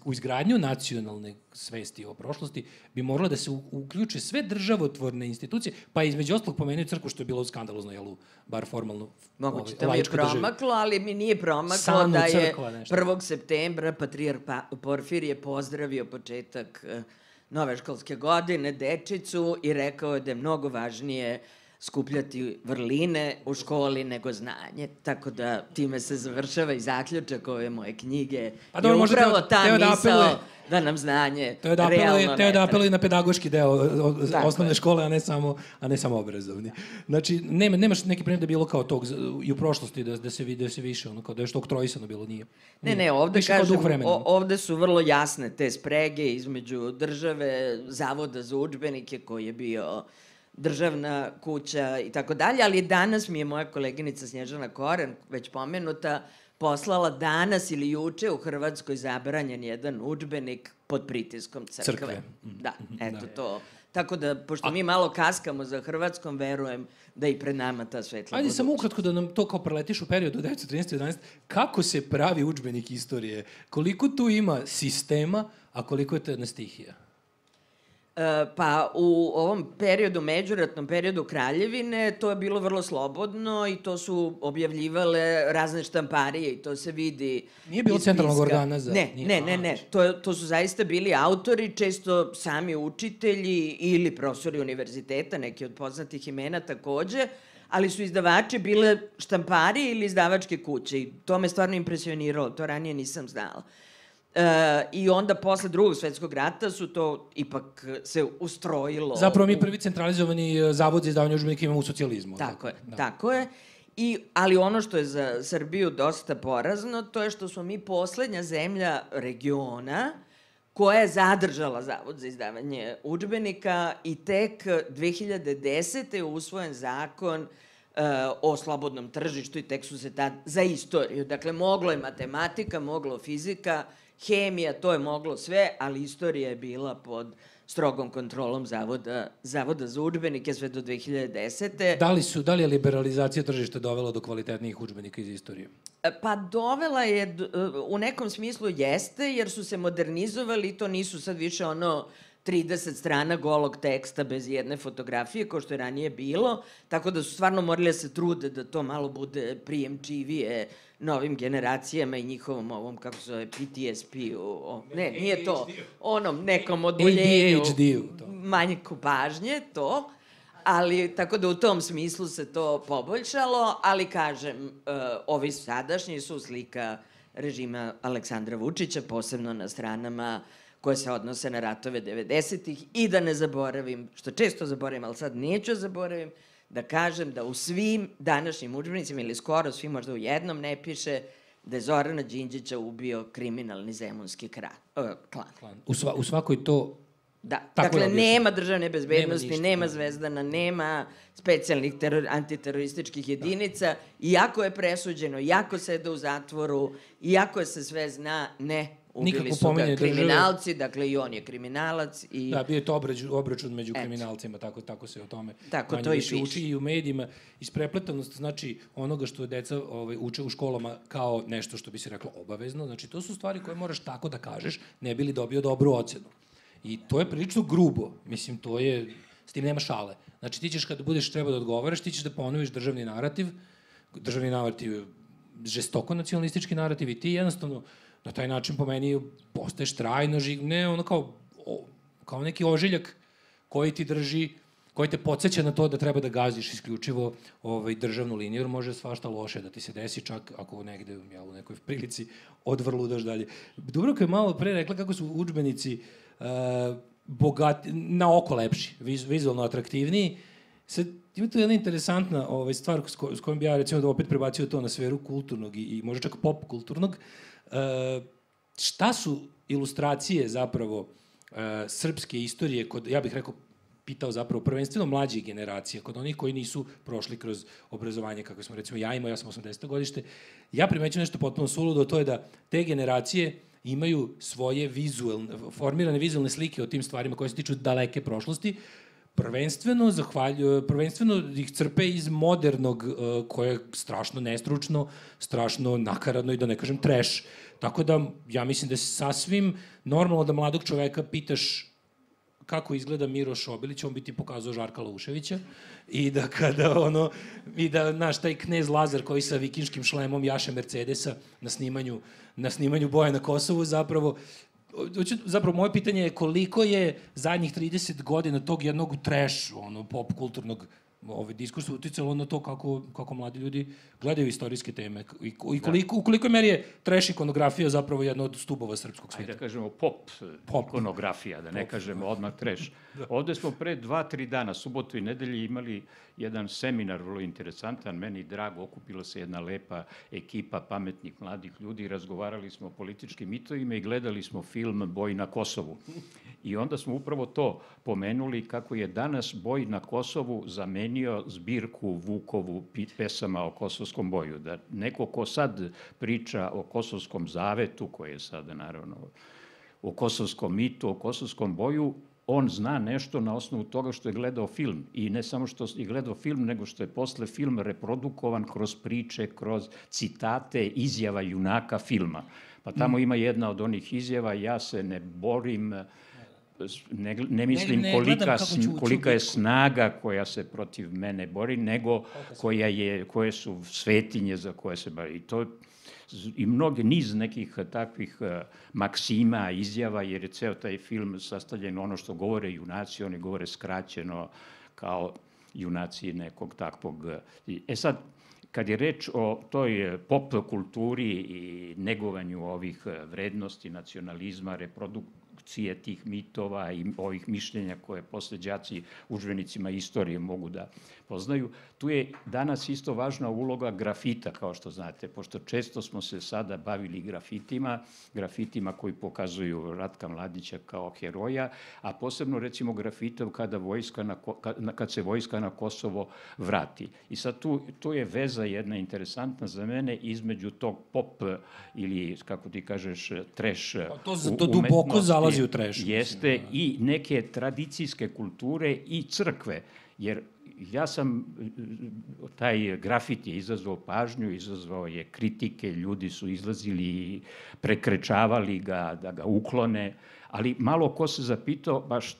u izgradnju nacionalne svesti o prošlosti bi moralo da se uključe sve državotvorne institucije, pa između ostalog pomenuo crkvu, što je bilo skandalozno, jel, bar formalno moguće, to mi je promaklo, ali mi nije promaklo da je 1. septembra patrijarh Porfirije pozdravio početak nove školske godine dečicu i rekao je da je mnogo važnije skupljati vrline u školi nego znanje. Tako da time se završava i zaključak ove moje knjige. Pa dobro, možda upravo ta da misao da nam znanje realno ne treba da treba. apeluje na pedagoški deo osnovne škole, a ne samo obrazovni. Znači, nemaš neki primjer da je bilo kao tog i u prošlosti da se više, ono, kao da je što oktroisano bilo, nije. Ne, ovde Više kao kažem, duh vremena. ovde su vrlo jasne te sprege između države, Zavoda za udžbenike koji je bio državna kuća i tako dalje, ali danas mi je moja koleginica Snježana Koren, već pomenuta, poslala danas ili juče u Hrvatskoj zabranjen jedan udžbenik pod pritiskom crkve. Da, eto to. Tako da, pošto mi malo kaskamo za Hrvatskom, verujem da i pred nama ta svetla budućnost. Ajde samo ukratko da nam to kao preletiš u periodu od 1913-11, kako se pravi udžbenik istorije? Koliko tu ima sistema, a koliko je to jedna stihija? Pa u ovom periodu, međuratnom periodu Kraljevine, to je bilo vrlo slobodno i to su objavljivale razne štamparije i to se vidi. Nije bilo centralnog organa za... Ne. To su zaista bili autori, često sami učitelji ili profesori univerziteta, neki od poznatih imena takođe, ali su izdavači bile štamparije ili izdavačke kuće i to me stvarno impresioniralo, to ranije nisam znala. I onda posle Drugog svetskog rata su to ipak se ustrojilo. Zapravo mi prvi centralizovani zavod za izdavanje udžbenika imamo u socijalizmu. Tako je. Ali ono što je za Srbiju dosta porazno, to je što smo mi poslednja zemlja regiona koja je zadržala Zavod za izdavanje udžbenika i tek 2010. je usvojen zakon o slobodnom tržištu i tek su se tad za istoriju. Dakle, moglo je matematika, moglo fizika, hemija, to je moglo sve, ali istorija je bila pod strogom kontrolom Zavoda za udžbenike sve do 2010. Da li je liberalizacija tržišta dovela do kvalitetnijih udžbenika iz istorije? Pa dovela je, u nekom smislu jeste, jer su se modernizovali i to nisu sad više 30 strana golog teksta bez jedne fotografije, kao što je ranije bilo, tako da su stvarno morali da se trude da to malo bude prijemčivije novim generacijama i njihovom ovom, kako se zove, PTSP-u, ne, nije to, onom nekom odboljenju, manjku pažnje, to, ali tako da u tom smislu se to poboljšalo, ali kažem, ovi sadašnji su slika režima Aleksandra Vučića, posebno na stranama koje se odnose na ratove 90-ih i da ne zaboravim, što često zaboravim, ali sad neću zaboravim, da kažem da u svim današnjim udžbenicima ili skoro svim, možda u jednom ne piše da je Zorana Đinđića ubio kriminalni zemunski klan. U svakoj to... Da, dakle, nema državne bezbednosti, nema Zvezdana, nema specijalnih antiterorističkih jedinica, iako je presuđeno, iako sede u zatvoru, iako se sve zna, ne, ubili su ga kriminalci, dakle i on je kriminalac. Da, bio je to obračun među kriminalcima, tako se o tome manje više uči i u medijima. Isprepletanost, znači, onoga što deca uče u školama kao nešto što bi se reklo obavezno, znači to su stvari koje moraš tako da kažeš, ne bi li dobio dobru ocenu. I to je prilično grubo, mislim, to je, s tim nema šale. Znači, ti ćeš kada budeš treba da odgovaraš, ti ćeš da ponoviš državni narativ je žestoko nacionalistički narativ i ti jednostavno na taj način po meni postaješ trajno ne ono kao neki ožiljak koji ti drži, koji te podsjeća na to da treba da gaziš isključivo državnu liniju, jer može svašta loše da ti se desi, čak ako negde u nekoj prilici odvrludaš dalje. Dubravka je malo pre rekla kako su udžbenici bogati, na oko lepši, vizualno atraktivniji. Sad, ima tu jedna interesantna stvar s kojom bi ja recimo da opet prebacio to na sferu kulturnog i možda čak pop kulturnog. Šta su ilustracije zapravo srpske istorije kod, ja bih rekao, pitao zapravo prvenstveno mlađih generacija, kod onih koji nisu prošli kroz obrazovanje, kako smo recimo ja sam 80. godište, ja primećujem nešto potpuno suludo, to je da te generacije imaju svoje formirane vizualne slike o tim stvarima koje se tiču daleke prošlosti, prvenstveno ih crpe iz modernog, koje je strašno nestručno, strašno nakaradno i da ne kažem trash. Tako da, ja mislim da je sasvim normalno da mladog čoveka pitaš kako izgleda Miroš Obilić, on bi ti pokazao Žarka Lauševića i da naš taj knez Lazar koji sa vikinškim šlemom jaše Mercedesa na snimanju Boje na Kosovu zapravo, zapravo, moje pitanje je koliko je zadnjih 30 godina tog jednog trash, pop kulturnog diskursa uticalo na to kako mladi ljudi gledaju istorijske teme i u kolikoj meri je trash ikonografija zapravo jedna od stubova srpskog sveta. Ajde da kažemo pop ikonografija, da ne kažemo odmah trash. Ovde smo pre 2-3 dana, subotu i nedelji, imali jedan seminar vrlo interesantan, meni drago, okupila se jedna lepa ekipa pametnih mladih ljudi, razgovarali smo o političkim mitovima i gledali smo film Boj na Kosovu. I onda smo upravo to pomenuli kako je danas Boj na Kosovu zamenio zbirku Vukovu pesama o kosovskom boju. Da neko ko sad priča o kosovskom zavetu, koji je sada naravno o kosovskom mitu, o kosovskom boju, on zna nešto na osnovu toga što je gledao film. I ne samo što je gledao film, nego što je posle film reprodukovan kroz priče, kroz citate, izjava junaka filma. Pa tamo ima jedna od onih izjava, ja se ne borim, ne mislim kolika je snaga koja se protiv mene bori, nego koje su svetinje za koje se bari. I mnogi niz nekih takvih maksima, izjava, jer je ceo taj film sastavljen ono što govore junaci, oni govore skraćeno kao junaci nekog takvog. Sad, kad je reč o toj pop kulturi i negovanju ovih vrednosti, nacionalizma, reprodukcije tih mitova i ovih mišljenja koje posle đaci udžbenicima istorije mogu da poznaju, tu je danas isto važna uloga grafita, kao što znate, pošto često smo se sada bavili grafitima koji pokazuju Ratka Mladića kao heroja, a posebno recimo grafitom kad se vojska na Kosovo vrati. I sad tu je veza jedna interesantna za mene između tog pop ili, kako ti kažeš, trash umetnosti. To duboko zalazi u trash. Jeste i neke tradicijske kulture i crkve, jer ja sam, taj grafit je izazvao pažnju, izazvao je kritike, ljudi su izlazili i prekrečavali ga, da ga uklone, ali malo ko se zapitao baš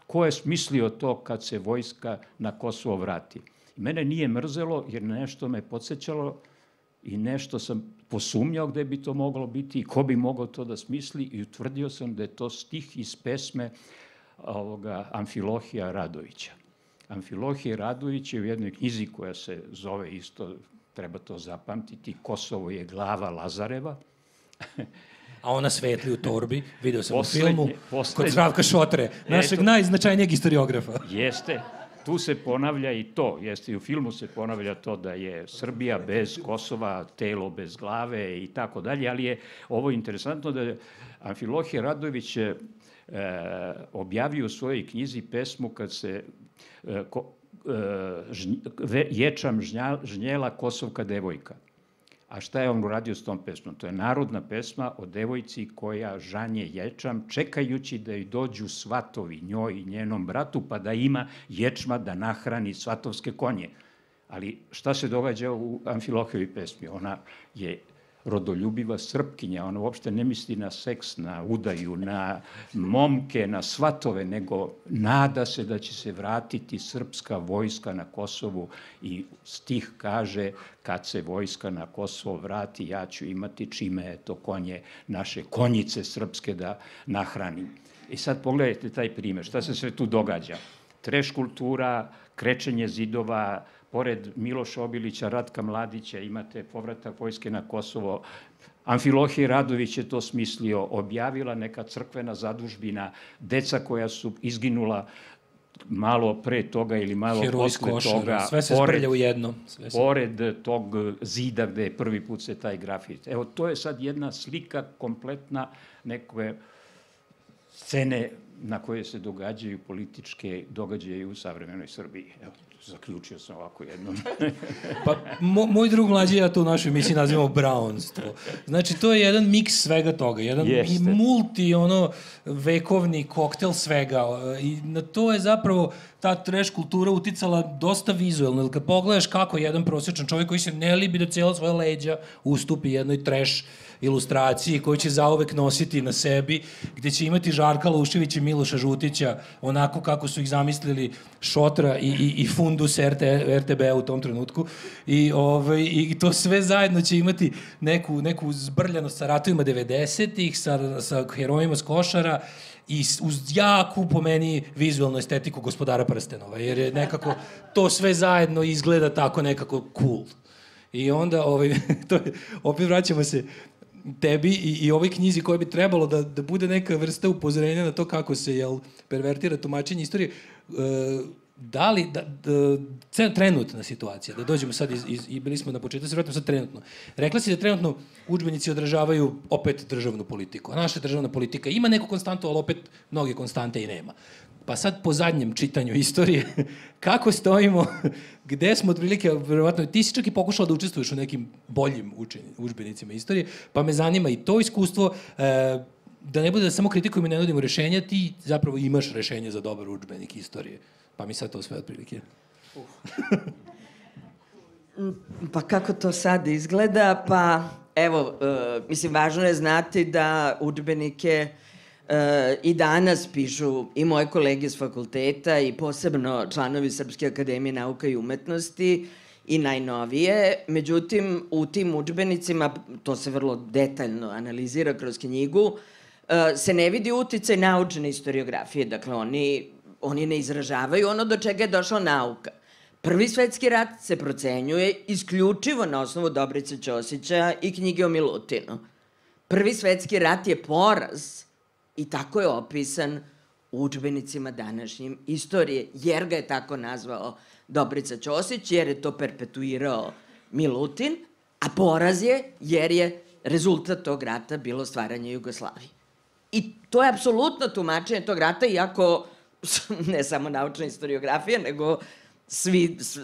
ko je smislio to kad se vojska na Kosovo vrati. Mene nije mrzelo jer nešto me podsjećalo i nešto sam posumnjao gde bi to moglo biti i ko bi mogao to da smisli i utvrdio sam da je to stih iz pesme Amfilohija Radovića. Amfilohije Radović je u jednoj knjizi koja se zove isto, treba to zapamtiti, Kosovo je glava Lazareva. A ona svetli u torbi, video sam u filmu, kod Zdravka Šotre, našeg najznačajnijeg historiografa. Jeste, tu se ponavlja i to, jeste i u filmu se ponavlja to da je Srbija bez Kosova, telo bez glave i tako dalje, ali je ovo interesantno da je Amfilohije Radović objavio u svojoj knjizi pesmu kad se ječam žnjela Kosovka devojka. A šta je on uradio s tom pesmom? To je narodna pesma o devojci koja žanje ječam, čekajući da joj dođu svatovi, njoj i njenom bratu, pa da ima ječma da nahrani svatovske konje. Ali šta se događa u Amfilohijevoj pesmi? Ona je rodoljubiva Srpkinja, ona uopšte ne misli na seks, na udaju, na momke, na svatove, nego nada se da će se vratiti srpska vojska na Kosovu i stih kaže kad se vojska na Kosovo vrati, ja ću imati čime to konje, naše konjice srpske da nahranim. I sad pogledajte taj primer, šta se sve tu događa? Treš kultura, krečenje zidova, pored Miloša Obilića, Ratka Mladića, imate povratak vojske na Kosovo. Amfilohije Radović je to smislio, objavila neka crkvena zadužbina, deca koja su izginula malo pre toga ili malo posle toga. Sve se sprlja u jedno. Pored tog zida gde je prvi put se taj grafit. Evo, to je sad jedna slika kompletna neke scene na koje se događaju političke događaje u savremenoj Srbiji. Evo, zaključio sam ovako jednom. Pa, moj drug mlađi ja to u našoj emisiji nazivamo brownstvo. Znači, to je jedan miks svega toga, jedan vekovni koktel svega. I na to je zapravo ta trash kultura uticala dosta vizuelno. Jer kad pogledaš kako jedan prosječan čovjek koji se ne libi da cijela svoja leđa ustupi jednoj trash ilustraciji koju će zauvek nositi na sebi, gde će imati Žarka Luševića i Miloša Žutića, onako kako su ih zamislili Šotra i fundus RTB u tom trenutku. I to sve zajedno će imati neku zbrljanost sa ratovima 90-ih, sa herojima s Košara, i uz jaku, po meni, vizualnu estetiku Gospodara prstenova, jer je nekako to sve zajedno izgleda tako nekako cool. I onda, opet vraćamo se tebi i ovoj knjizi koja bi trebalo da bude neka vrsta upozorenja na to kako se pervertira tumačenje istorije. Da li, trenutna situacija, da dođemo sad i bili smo na početku, se vratimo sad trenutno. Rekla si da trenutno udžbenici odražavaju opet državnu politiku. A naša državna politika ima neku konstantu, ali opet mnoge konstante i nema. Pa sad po zadnjem čitanju istorije, kako stojimo, gde smo otprilike, verovatno, ti si čak i pokušala da učestvuješ u nekim boljim udžbenicima istorije, pa me zanima i to iskustvo, da ne bude da samo kritikujemo i ne nudimo rešenja, ti zapravo imaš rešenje za dobar udžbenik istorije. Pa mi sad to sve otprilike. Pa kako to sad izgleda? Pa evo, mislim, važno je znati da udžbenike i danas pišu i moje kolege s fakulteta i posebno članovi Srpske akademije nauka i umetnosti i najnovije. Međutim, u tim udžbenicima, to se vrlo detaljno analizira kroz knjigu, se ne vidi uticaj naučne historiografije. Dakle, oni ne izražavaju ono do čega je došla nauka. Prvi svetski rat se procenjuje isključivo na osnovu Dobrice Ćosića i knjige o Milutinu. Prvi svetski rat je poraz i tako je opisan u udžbenicima današnjim istorije, jer ga je tako nazvao Dobrica Ćosić, jer je to perpetuirao Milutin, a poraz je jer je rezultat tog rata bilo stvaranje Jugoslavije. I to je apsolutno tumačenje tog rata, iako ne samo naučna historiografija, nego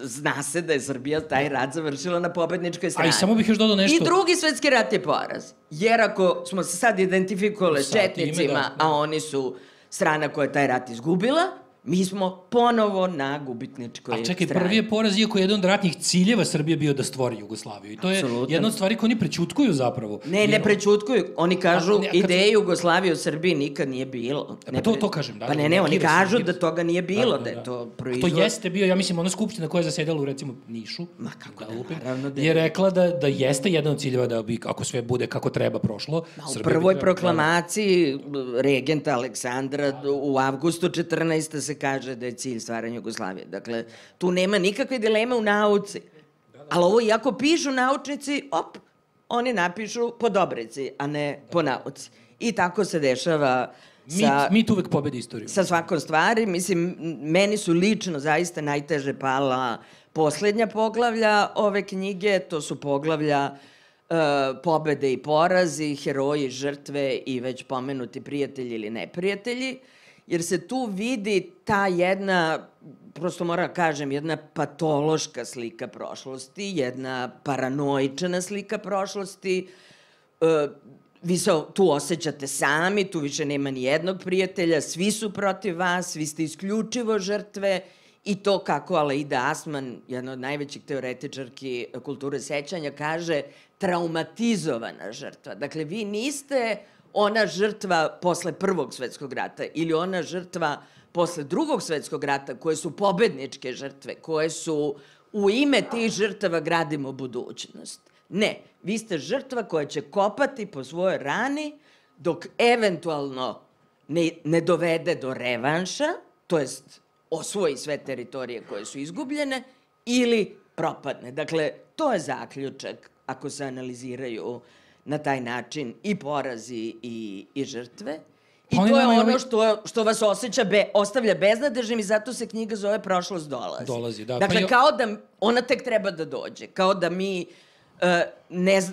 zna se da je Srbija taj rat završila na pobedničkoj strani. A i samo bih još dodao nešto. I drugi svetski rat je poraz. Jer ako smo se sad identifikovali s četnicima, a oni su strana koja je taj rat izgubila, mi smo ponovo na gubitničkoj strani. A čekaj, prvi je poraz, iako je jedan od ratnih ciljeva Srbije bio da stvori Jugoslaviju. I to je jedna od stvari koje oni prećutkuju zapravo. Ne prećutkuju. Oni kažu, ideje Jugoslavije u Srbiji nikad nije bilo. Pa to kažem, da. Pa ne, oni kažu da toga nije bilo, da je to proizvod. To jeste bio, ja mislim, ona skupština koja je zasedala u, recimo, Nišu. Ma kako da, naravno da je rekla da jeste jedan od ciljeva da bi, ako sve bude kako treba prošlo. U prvoj proklamaciji regenta Aleksandra u avgustu 14. se kaže da je cilj stvaranja Jugoslavije. Dakle, tu nema nikakve dileme u nauci. Ali ovo, iako pišu naučnici, oni napišu po Dobrici, a ne po nauci. I tako se dešava mit uvek pobedi istoriju. Sa svakom stvari. Mislim, meni su lično zaista najteže pala poslednja poglavlja ove knjige. To su poglavlja pobede i porazi, heroji, žrtve i već pomenuti prijatelji ili neprijatelji. Jer se tu vidi ta jedna, prosto moram kažem, jedna patološka slika prošlosti, jedna paranoična slika prošlosti. Vi se tu osjećate sami, tu više nema ni jednog prijatelja, svi su protiv vas, vi ste isključivo žrtve i to kako Aleida Asman, jedna od najvećih teoretičarki kulture sećanja, kaže traumatizovana žrtva. Dakle, vi niste ona žrtva posle Prvog svetskog rata ili ona žrtva posle Drugog svetskog rata, koje su pobedničke žrtve, koje su u ime tih žrtava gradimo budućnost. Ne, vi ste žrtva koja će kopati po svojoj rani dok eventualno ne dovede do revanša, to jest osvoji sve teritorije koje su izgubljene, ili propadne. Dakle, to je zaključak ako se analiziraju na taj način i porazi i žrtve. I to je ono što vas ostavlja beznadežnim i zato se knjiga zove Prošlost dolazi. Dakle, kao da ona tek treba da dođe. Kao da mi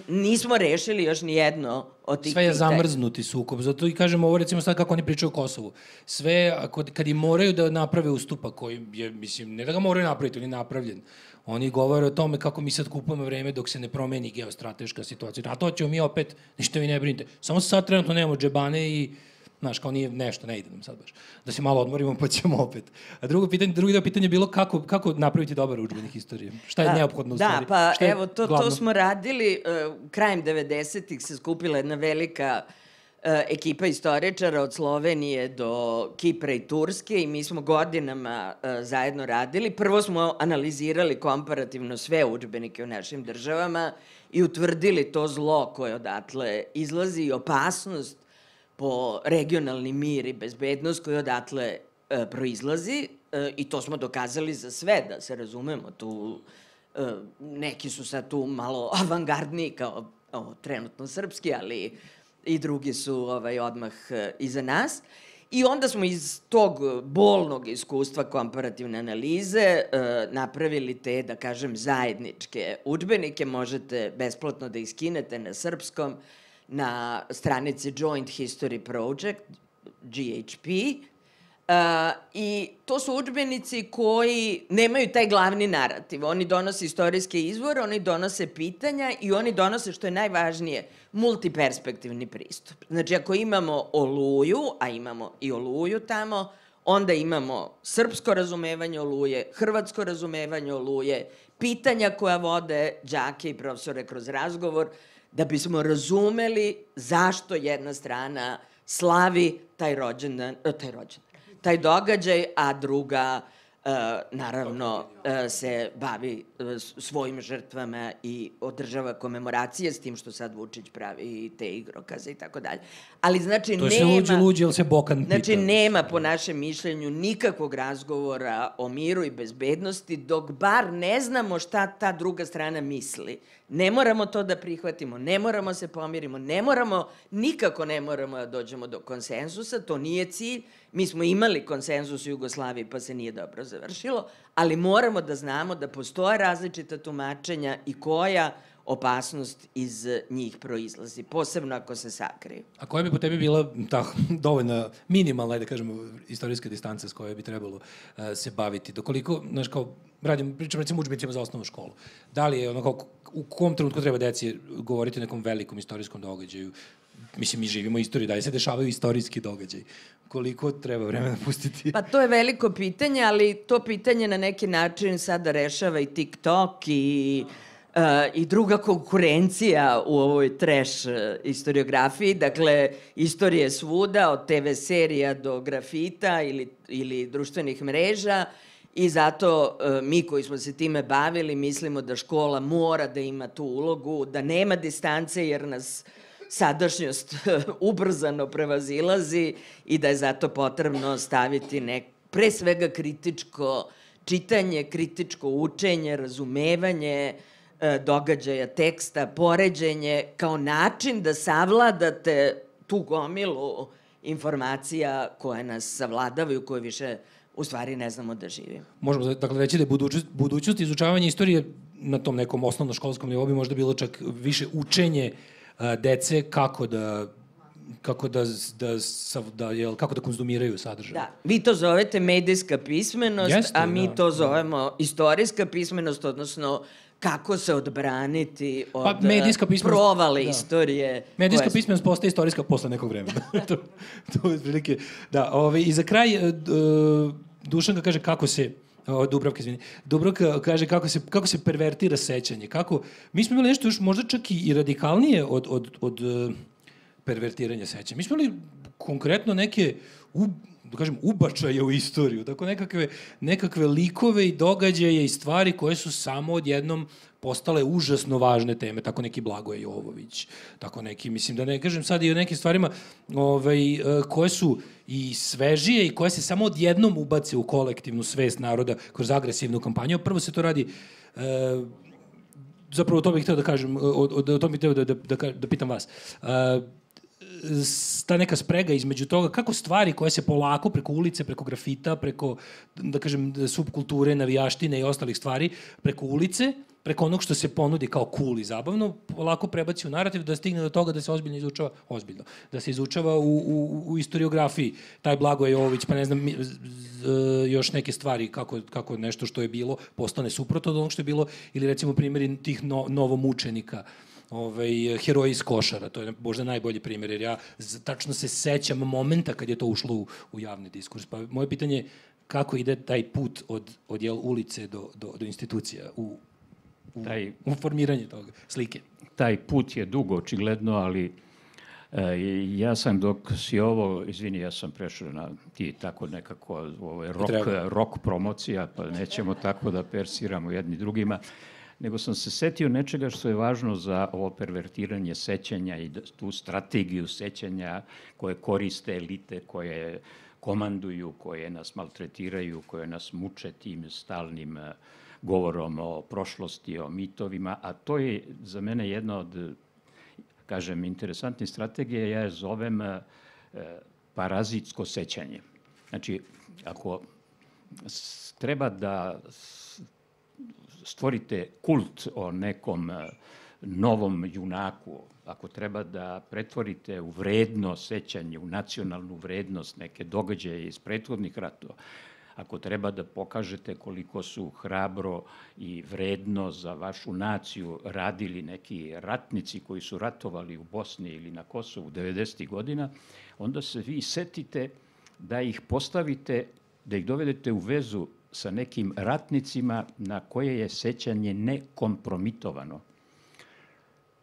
nismo rešili još ni jedno od tih pitanja. Sve je zamrznuti sukob. Zato i kažem ovo, recimo sad kako oni pričaju o Kosovu. Sve, kad im moraju da naprave ustupak koji je, mislim, ne da ga moraju napraviti, on je napravljen. Oni govore o tome kako mi sad kupujemo vreme dok se ne promeni geostrateška situacija. A to ćemo mi opet, ništa vi ne brinite. Samo sad trenutno nemamo džebane i, znaš, kao nije nešto, ne ide nam sad baš. Da se malo odmorimo pa ćemo opet. A drugi deo pitanja je bilo kako napraviti dobar udžbenik istorije. Šta je neophodno u stvari? Da, pa evo, to smo radili, krajem 90-ih se skupila jedna velika ekipa istoričara od Slovenije do Kipra i Turske i mi smo godinama zajedno radili. Prvo smo analizirali komparativno sve udžbenike u našim državama i utvrdili to zlo koje odatle izlazi i opasnost po regionalni mir i bezbednost koji odatle proizlazi i to smo dokazali za sve, da se razumemo. Tu, neki su sad tu malo avangardniji kao trenutno srpski, ali i drugi su odmah iza nas. I onda smo iz tog bolnog iskustva komparativne analize napravili te, da kažem, zajedničke udžbenike. Možete besplatno da iskinete na srpskom, na stranici Joint History Project, GHP, i to su udžbenici koji nemaju taj glavni narativ. Oni donose istorijske izvore, oni donose pitanja i oni donose, što je najvažnije, multiperspektivni pristup. Znači, ako imamo Oluju, a imamo i Oluju tamo, onda imamo srpsko razumevanje Oluje, hrvatsko razumevanje Oluje, pitanja koja vode đake i profesore kroz razgovor, da bismo razumeli zašto jedna strana slavi taj događaj, a druga, naravno, se bavi svojim žrtvama i održava komemoracije, s tim što sad Vučić pravi te igrokaze i tako dalje. Ali, znači, to je sve luđe, ali se Bokan pita. Znači, nema, po našem mišljenju, nikakvog razgovora o miru i bezbednosti, dok bar ne znamo šta ta druga strana misli. Ne moramo to da prihvatimo, ne moramo se pomirimo, nikako ne moramo da dođemo do konsenzusa, to nije cilj. Mi smo imali konsenzus u Jugoslaviji, pa se nije dobro završilo, ali moramo da znamo da postoje različita tumačenja i koja opasnost iz njih proizlazi, posebno ako se sakriju. A koja bi po tebi bila ta dovoljna, minimalna, da kažemo, istorijska distanca s kojoj bi trebalo se baviti? Dokoliko, znaš, kao, pričam recimo udžbenicima za osnovnu školu. Da li je ono kao, u kom trenutku treba deci govoriti o nekom velikom istorijskom događaju? Mislim, mi živimo u istoriji, da li se dešavaju istorijski događaj? Koliko treba vremena pustiti? Pa to je veliko pitanje, ali to pitanje na neki način sada rešava i TikTok i druga konkurencija u ovoj trash istoriografiji. Dakle, istorije svuda, od TV serija do grafita ili društvenih mreža, i zato mi koji smo se time bavili mislimo da škola mora da ima tu ulogu, da nema distance jer nas sadašnjost ubrzano prevazilazi i da je zato potrebno staviti pre svega kritičko čitanje, kritičko učenje, razumevanje događaja, teksta, poređenje, kao način da savladate tu gomilu informacija koje nas savladavaju, koje više u stvari ne znamo da živimo. Možemo dakle reći da je budućnost izučavanja istorije na tom nekom osnovnoškolskom nivou bi možda bilo čak više učenje dece kako da konzumiraju sadržaj. Da, vi to zovete medijska pismenost, a mi to zovemo istorijska pismenost, odnosno kako se odbraniti od provale istorije. Medijska pismenost postaje istorijska posle nekog vremena. To je prilike. Da, i za kraj Dušanka kaže kako se Dubravka kaže kako se pervertira sećanje. Mi smo imali nešto još možda čak i radikalnije od pervertiranja sećanja. Mi smo imali konkretno neke ubačaje u istoriju, tako nekakve likove i događaje i stvari koje su samo odjednom postale užasno važne teme, tako neki Blagoje Jovović, tako neki, mislim da ne kažem sad i o nekim stvarima koje su i svežije i koje se samo odjednom ubace u kolektivnu svest naroda kroz agresivnu kampanju. Prvo se to radi, zapravo to bih hteo da kažem, to bih hteo da pitam vas, ta neka sprega između toga kako stvari koje se polako preko ulice, preko grafita, preko, da kažem, subkulture, navijaštine i ostalih stvari, preko ulice, preko onog što se ponudi kao cool i zabavno, polako prebaci u narativ da stigne do toga da se ozbiljno da se izučava u istoriografiji. Taj Blagoje Jovović, pa ne znam, još neke stvari, kako nešto što je bilo postane suprotno od onog što je bilo, ili recimo primjeri tih novomučenika, heroji iz Košara, to je možda najbolji primjer, jer ja tačno se sećam momenta kad je to ušlo u javni diskurs. Pa moje pitanje je kako ide taj put od ulice do institucija u formiranje toga slike. Taj put je dugo, očigledno, ali Ja sam dok si ovo, izvini, ja sam prešao na ti tako nekako rock promocija, pa nećemo tako da persiramo jedni drugima, nego sam se setio nečega što je važno za ovo pervertiranje sećanja i tu strategiju sećanja koje koriste elite, koje komanduju, koje nas maltretiraju, koje nas muče tim stalnim govorom o prošlosti, o mitovima, a to je za mene jedna od, kažem, interesantnih strategija, ja je zovem parazitsko sećanje. Znači, ako treba da stvorite kult o nekom novom junaku, ako treba da pretvorite u vredno sećanje, u nacionalnu vrednost neke događaje iz prethodnih ratova, ako treba da pokažete koliko su hrabro i vredno za vašu naciju radili neki ratnici koji su ratovali u Bosni ili na Kosovu 90. godina, onda se vi setite da ih postavite, da ih dovedete u vezu sa nekim ratnicima na koje je sećanje nekompromitovano.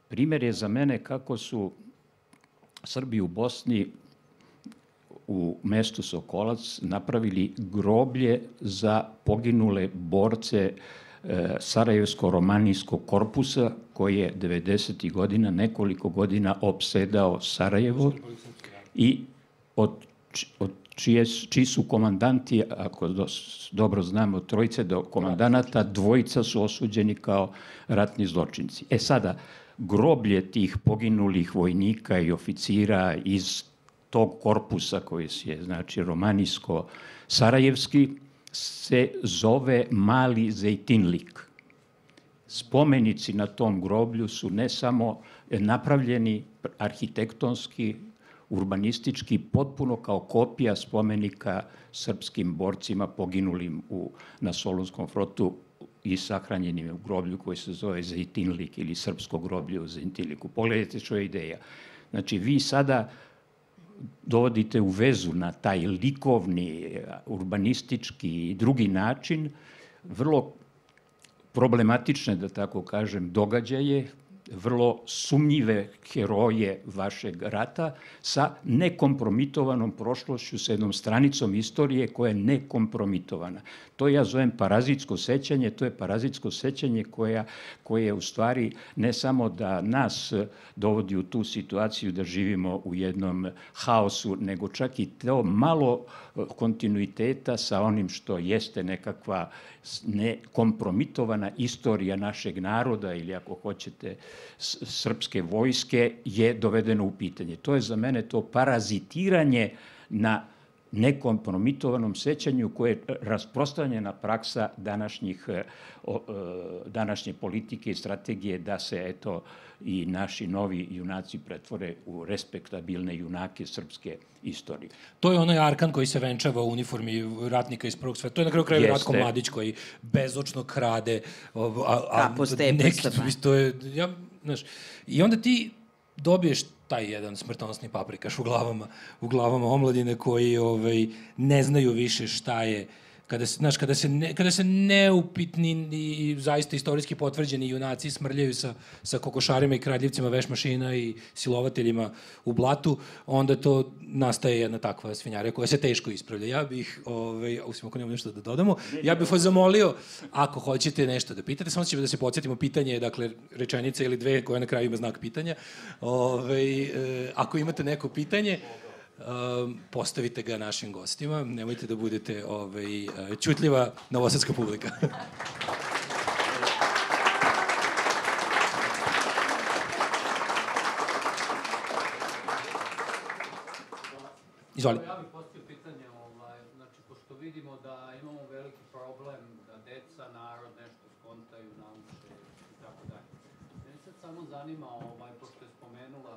Primer je za mene kako su Srbi u Bosni u mestu Sokolac napravili groblje za poginule borce Sarajevsko-romanijskog korpusa koji je 90. godina, nekoliko godina opsedao Sarajevo i čiji su komandanti, ako dobro znamo, trojice do komandanata, dvojica su osuđeni kao ratni zločinci. Sada, groblje tih poginulih vojnika i oficira iz tog korpusa koji je, znači, romanijsko-sarajevski, se zove Mali Zejtinlik. Spomenici na tom groblju su ne samo napravljeni arhitektonski, urbanistički, potpuno kao kopija spomenika srpskim borcima poginulim na Solunskom frontu i sahranjenim u groblju koji se zove Zejtinlik ili srpsko groblje u Zejtinliku. Pogledajte što je ideja. Znači, vi sada dovodite u vezu na taj likovni, urbanistički i drugi način vrlo problematične, da tako kažem, događaje, vrlo sumnjive heroje vašeg rata sa nekompromitovanom prošlošću, sa jednom stranicom istorije koja je nekompromitovana. To ja zovem parazitsko sećanje, to je parazitsko sećanje koje u stvari ne samo da nas dovodi u tu situaciju da živimo u jednom haosu, nego čak i to malo kontinuiteta sa onim što jeste nekakva nekompromitovana istorija našeg naroda ili ako hoćete srpske vojske je dovedeno u pitanje. To je za mene to parazitiranje na nekompromitovanom sećanju koje je rasprostranjena praksa današnje politike i strategije da se eto i naši novi junaci pretvore u respektabilne junake srpske istorije. To je onaj Arkan koji se venčava u uniformi ratnika iz Prvog sveta. To je na kraju kraju Ratko Mladić koji bezočno krade. Kapo stepesta. I onda ti dobiješ taj jedan smrtonosni paprikaš u glavama omladine koji ne znaju više šta je, kada se neupitni i zaista istorijski potvrđeni junaci smrljaju sa kokošarima i kradljivcima veš mašina i silovateljima u blatu, onda to nastaje jedna takva svinjarija koja se teško ispravlja. Ja bih, osim ako nemamo nešto da dodamo, ja bih vas zamolio, ako hoćete nešto da pitate, samo ćemo da se podsjetimo, pitanje je, dakle, rečenica ili dve koja na kraju ima znak pitanja. Ako imate neko pitanje, postavite ga našim gostima, nemojte da budete ćutljiva novosadska publika. Izvoli. Ja bih postavio pitanje, znači, pošto vidimo da imamo veliki problem da deca, narod nešto skontaju, nauče i tako dalje. Mene sad samo zanima, pošto je spomenula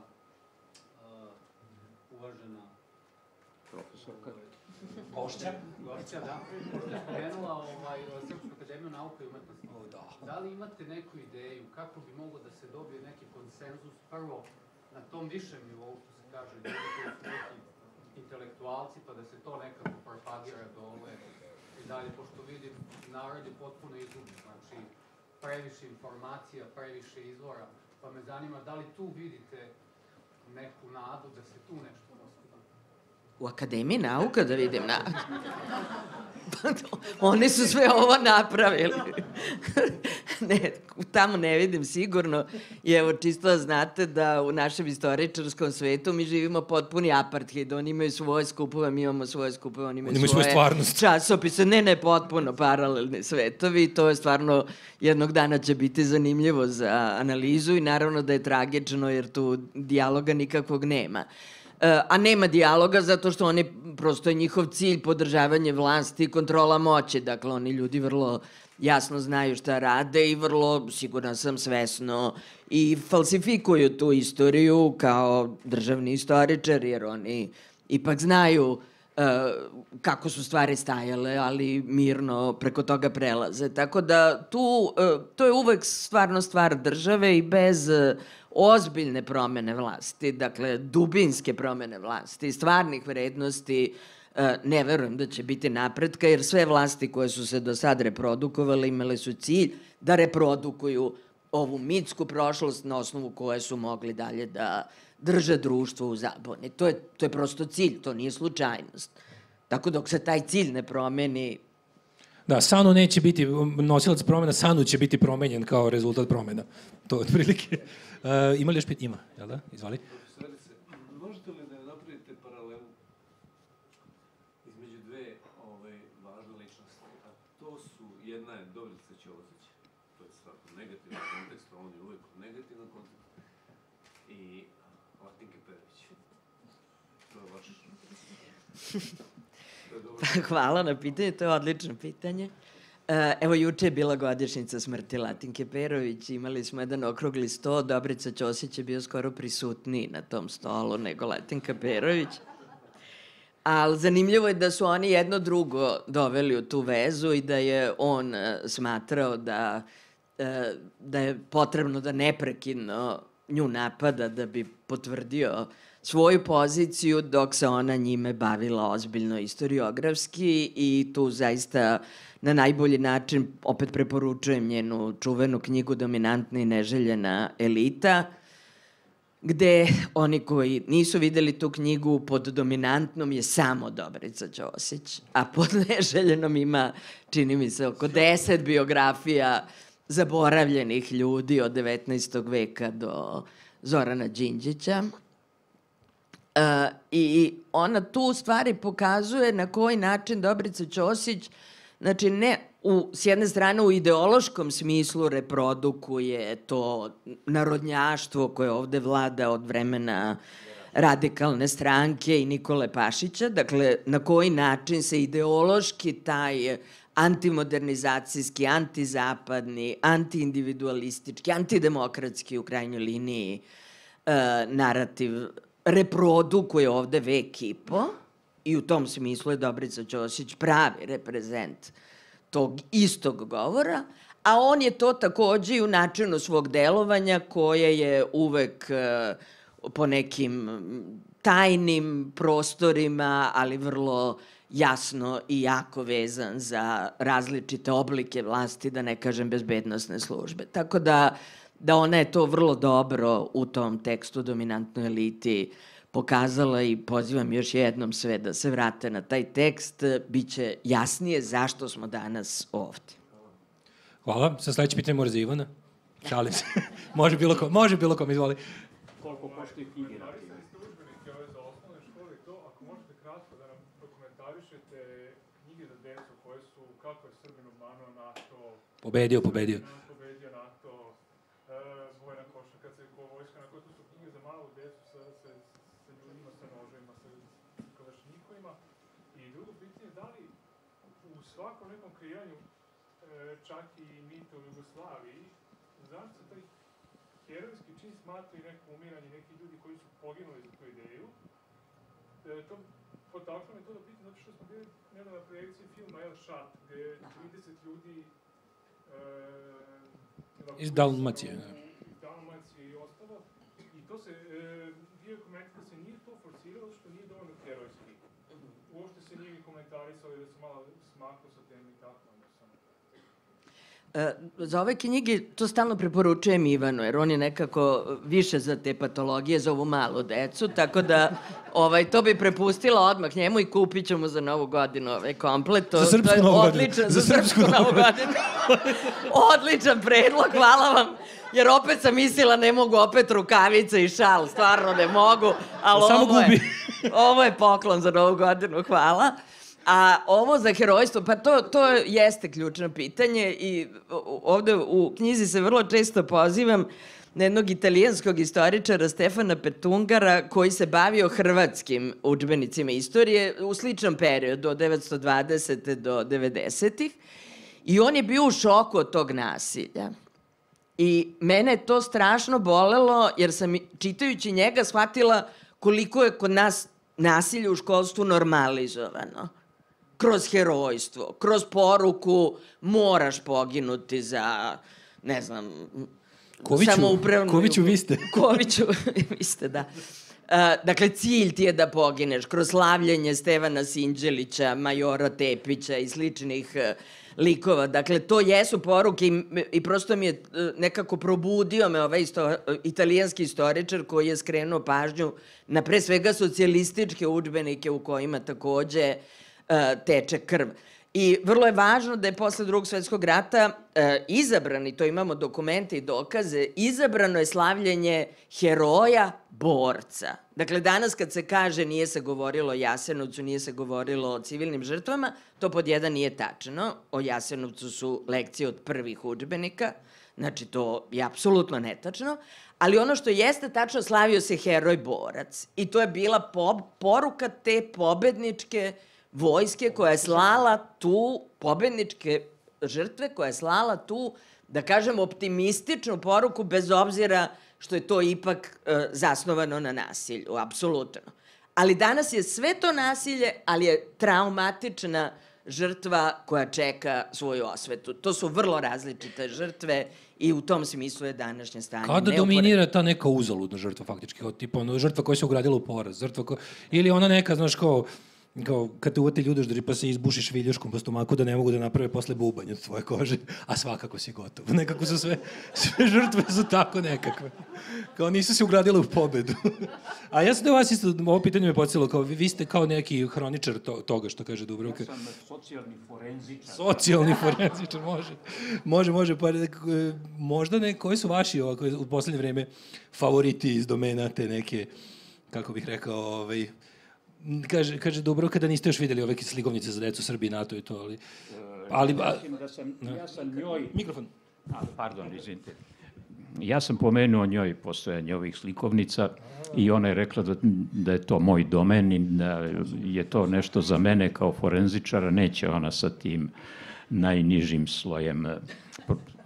uvažena profesorka Gošća, da, pošto je spomenula Srpsku akademiju nauka i umetnosti. Da li imate neku ideju kako bi moglo da se dobije neki konsenzus prvo na tom višem nivou, što se kaže, ljudi koji su neki intelektualci, pa da se to nekako propagira dole i dalje, pošto vidim, narod je potpuno izgubljen, znači previše informacija, previše izvora, pa me zanima da li tu vidite neku nadu da se tu nešto postigne? U Akademiji nauka da vidim nadu. Oni su sve ovo napravili. Ne, tamo ne vidim sigurno. I evo, čisto da znate da u našem istoričarskom svetu mi živimo potpuni apartheid. Oni imaju svoje skupove, mi imamo svoje skupove, oni imaju svoje stvarnost. Časopise. Ne, potpuno paralelni svetovi. To je stvarno, jednog dana će biti zanimljivo za analizu i naravno da je tragično jer tu dijaloga nikakvog nema. A nema dijaloga zato što oni, prosto je njihov cilj podržavanje vlasti i kontrola moći. Dakle, oni ljudi vrlo jasno znaju šta rade i vrlo, sigurno sam, svesno i falsifikuju tu istoriju kao državni istoričar, jer oni ipak znaju kako su stvari stajale, ali mirno preko toga prelaze. Tako da tu, to je uvek stvarno stvar države i bez ozbiljne promene vlasti, dakle dubinske promene vlasti, stvarnih vrednosti, ne verujem da će biti napretka, jer sve vlasti koje su se do sad reprodukovale imale su cilj da reprodukuju ovu mitsku prošlost na osnovu koje su mogli dalje da drže društvo u zaboni. To je prosto cilj, to nije slučajnost. Tako dok se taj cilj ne promeni... Da, Sanu neće biti nosilac promena, Sanu će biti promenjen kao rezultat promena. To je otprilike. Ima li još pitanje? Ima, jel da? Izvali. Možete li da napravite paralelu između dve važne ličnosti? A to su, jedna je Dobrica Ćosić, to je svako negativan kontekst, on je uvek negativan kontekst, i Latinke Perović. To je vaš... Hvala na pitanje, to je odlično pitanje. Evo, juče je bila godišnjica smrti Latinke Perović, imali smo jedan okrugli sto, Dobrica Ćosić je bio skoro prisutniji na tom stolu nego Latinka Perović. Ali zanimljivo je da su oni jedno drugo doveli u tu vezu i da je on smatrao da je potrebno da neprekidno nju napada da bi potvrdio svoju poziciju, dok se ona njime bavila ozbiljno istoriografski i tu zaista na najbolji način opet preporučujem njenu čuvenu knjigu Dominantna i neželjena elita, gde oni koji nisu videli tu knjigu, pod dominantnom je samo Dobrica Ćosić, a pod neželjenom ima, čini mi se, oko 10 biografija zaboravljenih ljudi od 19. veka do Zorana Đinđića. I ona tu u stvari pokazuje na koji način Dobrica Ćosić, znači ne s jedne strane u ideološkom smislu reprodukuje to narodnjaštvo koje ovde vlada od vremena Radikalne stranke i Nikole Pašića, dakle na koji način se ideološki taj antimodernizacijski, antizapadni, antiindividualistički, antidemokratski u krajnjoj liniji narativ reprodukuje ovde vek i po i u tom smislu je Dobrica Ćosić pravi reprezent tog istog govora, a on je to takođe i u načinu svog delovanja koje je uvek po nekim tajnim prostorima, ali vrlo jasno i jako vezan za različite oblike vlasti, da ne kažem bezbednosne službe. Tako da ona je to vrlo dobro u tom tekstu Dominantnoj eliti pokazala i pozivam još jednom sve da se vrate na taj tekst, biće jasnije zašto smo danas ovde. Hvala. Sa sledeće pitanje mora za Ivana. Šalim se. Može bilo kom, izvoli. Koliko koštaju knjige? Napisali ste udžbenike ove za osnovne škole i to, ako možete kratko da nam dokumentarišete knjige za decu koje su Kako je Srbin obmanuo NATO, Pobedio. Pobedio NATO, Vojna koša, kad se vojska, na koje to su knjige za malu decu sa ljudima, sa nožima, sa kalašnjikovima. I drugo pitanje, da li u svakom nekom kreiranju, čak i mita u Jugoslaviji, zašto se taj herojski čin smatra i neko umiranje nekih ljudi koji su poginuli za tu ideju? To potaklo me to da pitam, zato što smo bili nedavno na projekciji filma El Šat, gde je 30 ljudi iz Dalmacije. Iz Dalmacije i ostalo. I to se, bio je komentar da se nije to forsiralo što nije dovoljno herojski. Uopšte se nije komentarisalo da se malo smaklo sa tem i tako. Za ove knjige to stalno preporučujem Ivanu, jer on je nekako više za te patologije, za ovu malu decu, tako da to bi prepustila odmah njemu i kupit ću mu za Novu godinu komplet. Za srpsku Novu godinu. Za srpsku Novu godinu. Odličan predlog, hvala vam. Jer opet sam mislila ne mogu opet rukavice i šal, stvarno ne mogu, ali ovo je poklon za Novu godinu, hvala. A ovo za herojstvo, pa to jeste ključno pitanje i ovde u knjizi se vrlo često pozivam na jednog italijanskog istoričara Stefana Petungara koji se bavio hrvatskim udžbenicima istorije u sličnom periodu od 1920. do 90-ih i on je bio u šoku od tog nasilja. I mene je to strašno bolelo jer sam čitajući njega shvatila koliko je kod nas nasilje u školstvu normalizovano. Kroz herojstvo, kroz poruku moraš poginuti za, ne znam, samoupravnu... Koviću, vi ste. Koviću, vi ste, da. Dakle, cilj ti je da pogineš kroz slavljenje Stevana Sinđelića, Majora Tepića i sličnih likova. Dakle, to jesu poruke i prosto mi je nekako probudio me ovaj italijanski istoričar koji je skrenuo pažnju na pre svega socijalističke udžbenike u kojima takođe teče krv. I vrlo je važno da je posle Drugog svetskog rata izabran, i to imamo dokumente i dokaze, izabrano je slavljenje heroja borca. Dakle, danas kad se kaže nije se govorilo o Jasenovcu, nije se govorilo o civilnim žrtvama, to pod jedan nije tačno. O Jasenovcu su lekcije od prvih udžbenika, znači to je apsolutno netačno, ali ono što jeste tačno, slavio se heroj borac. I to je bila poruka te pobedničke vojske koja je slala tu, pobedničke žrtve koja je slala tu, da kažem, optimističnu poruku bez obzira što je to ipak zasnovano na nasilju, apsolutno. Ali danas je sve to nasilje, ali je traumatična žrtva koja čeka svoju osvetu. To su vrlo različite žrtve i u tom smislu je današnje stanje. Kada dominira ta neka uzaludna žrtva faktički, tipa žrtva koja se ugradila u poraz, ili ona neka, znaš, kao kad te uvati ljudoždari pa se izbušiš viljuškom po stomaku da ne mogu da naprave posle bubanj od tvoje kože, a svakako si gotov. Nekako su sve žrtve su tako nekakve. Kao nisu se ugradile u pobedu. A ja sam da vas isto, ovo pitanje me podsjelo, kao vi ste kao neki hroničar toga što kaže Dubravka. Ja sam socijalni forenzičar. Socijalni forenzičar, može. Pa možda koji su vaši ovako u poslednje vreme favoriti iz domena te neke, kako bih rekao, Kaže Dubravka da niste još vidjeli ove slikovnice za decu Srbiji, NATO i to, ali... Ja sam njoj... Mikrofon. Pardon, izvinite. Ja sam pomenuo njoj postojanje ovih slikovnica i ona je rekla da je to moj domen i da je to nešto za mene kao forenzičara. Neće ona sa tim najnižim slojem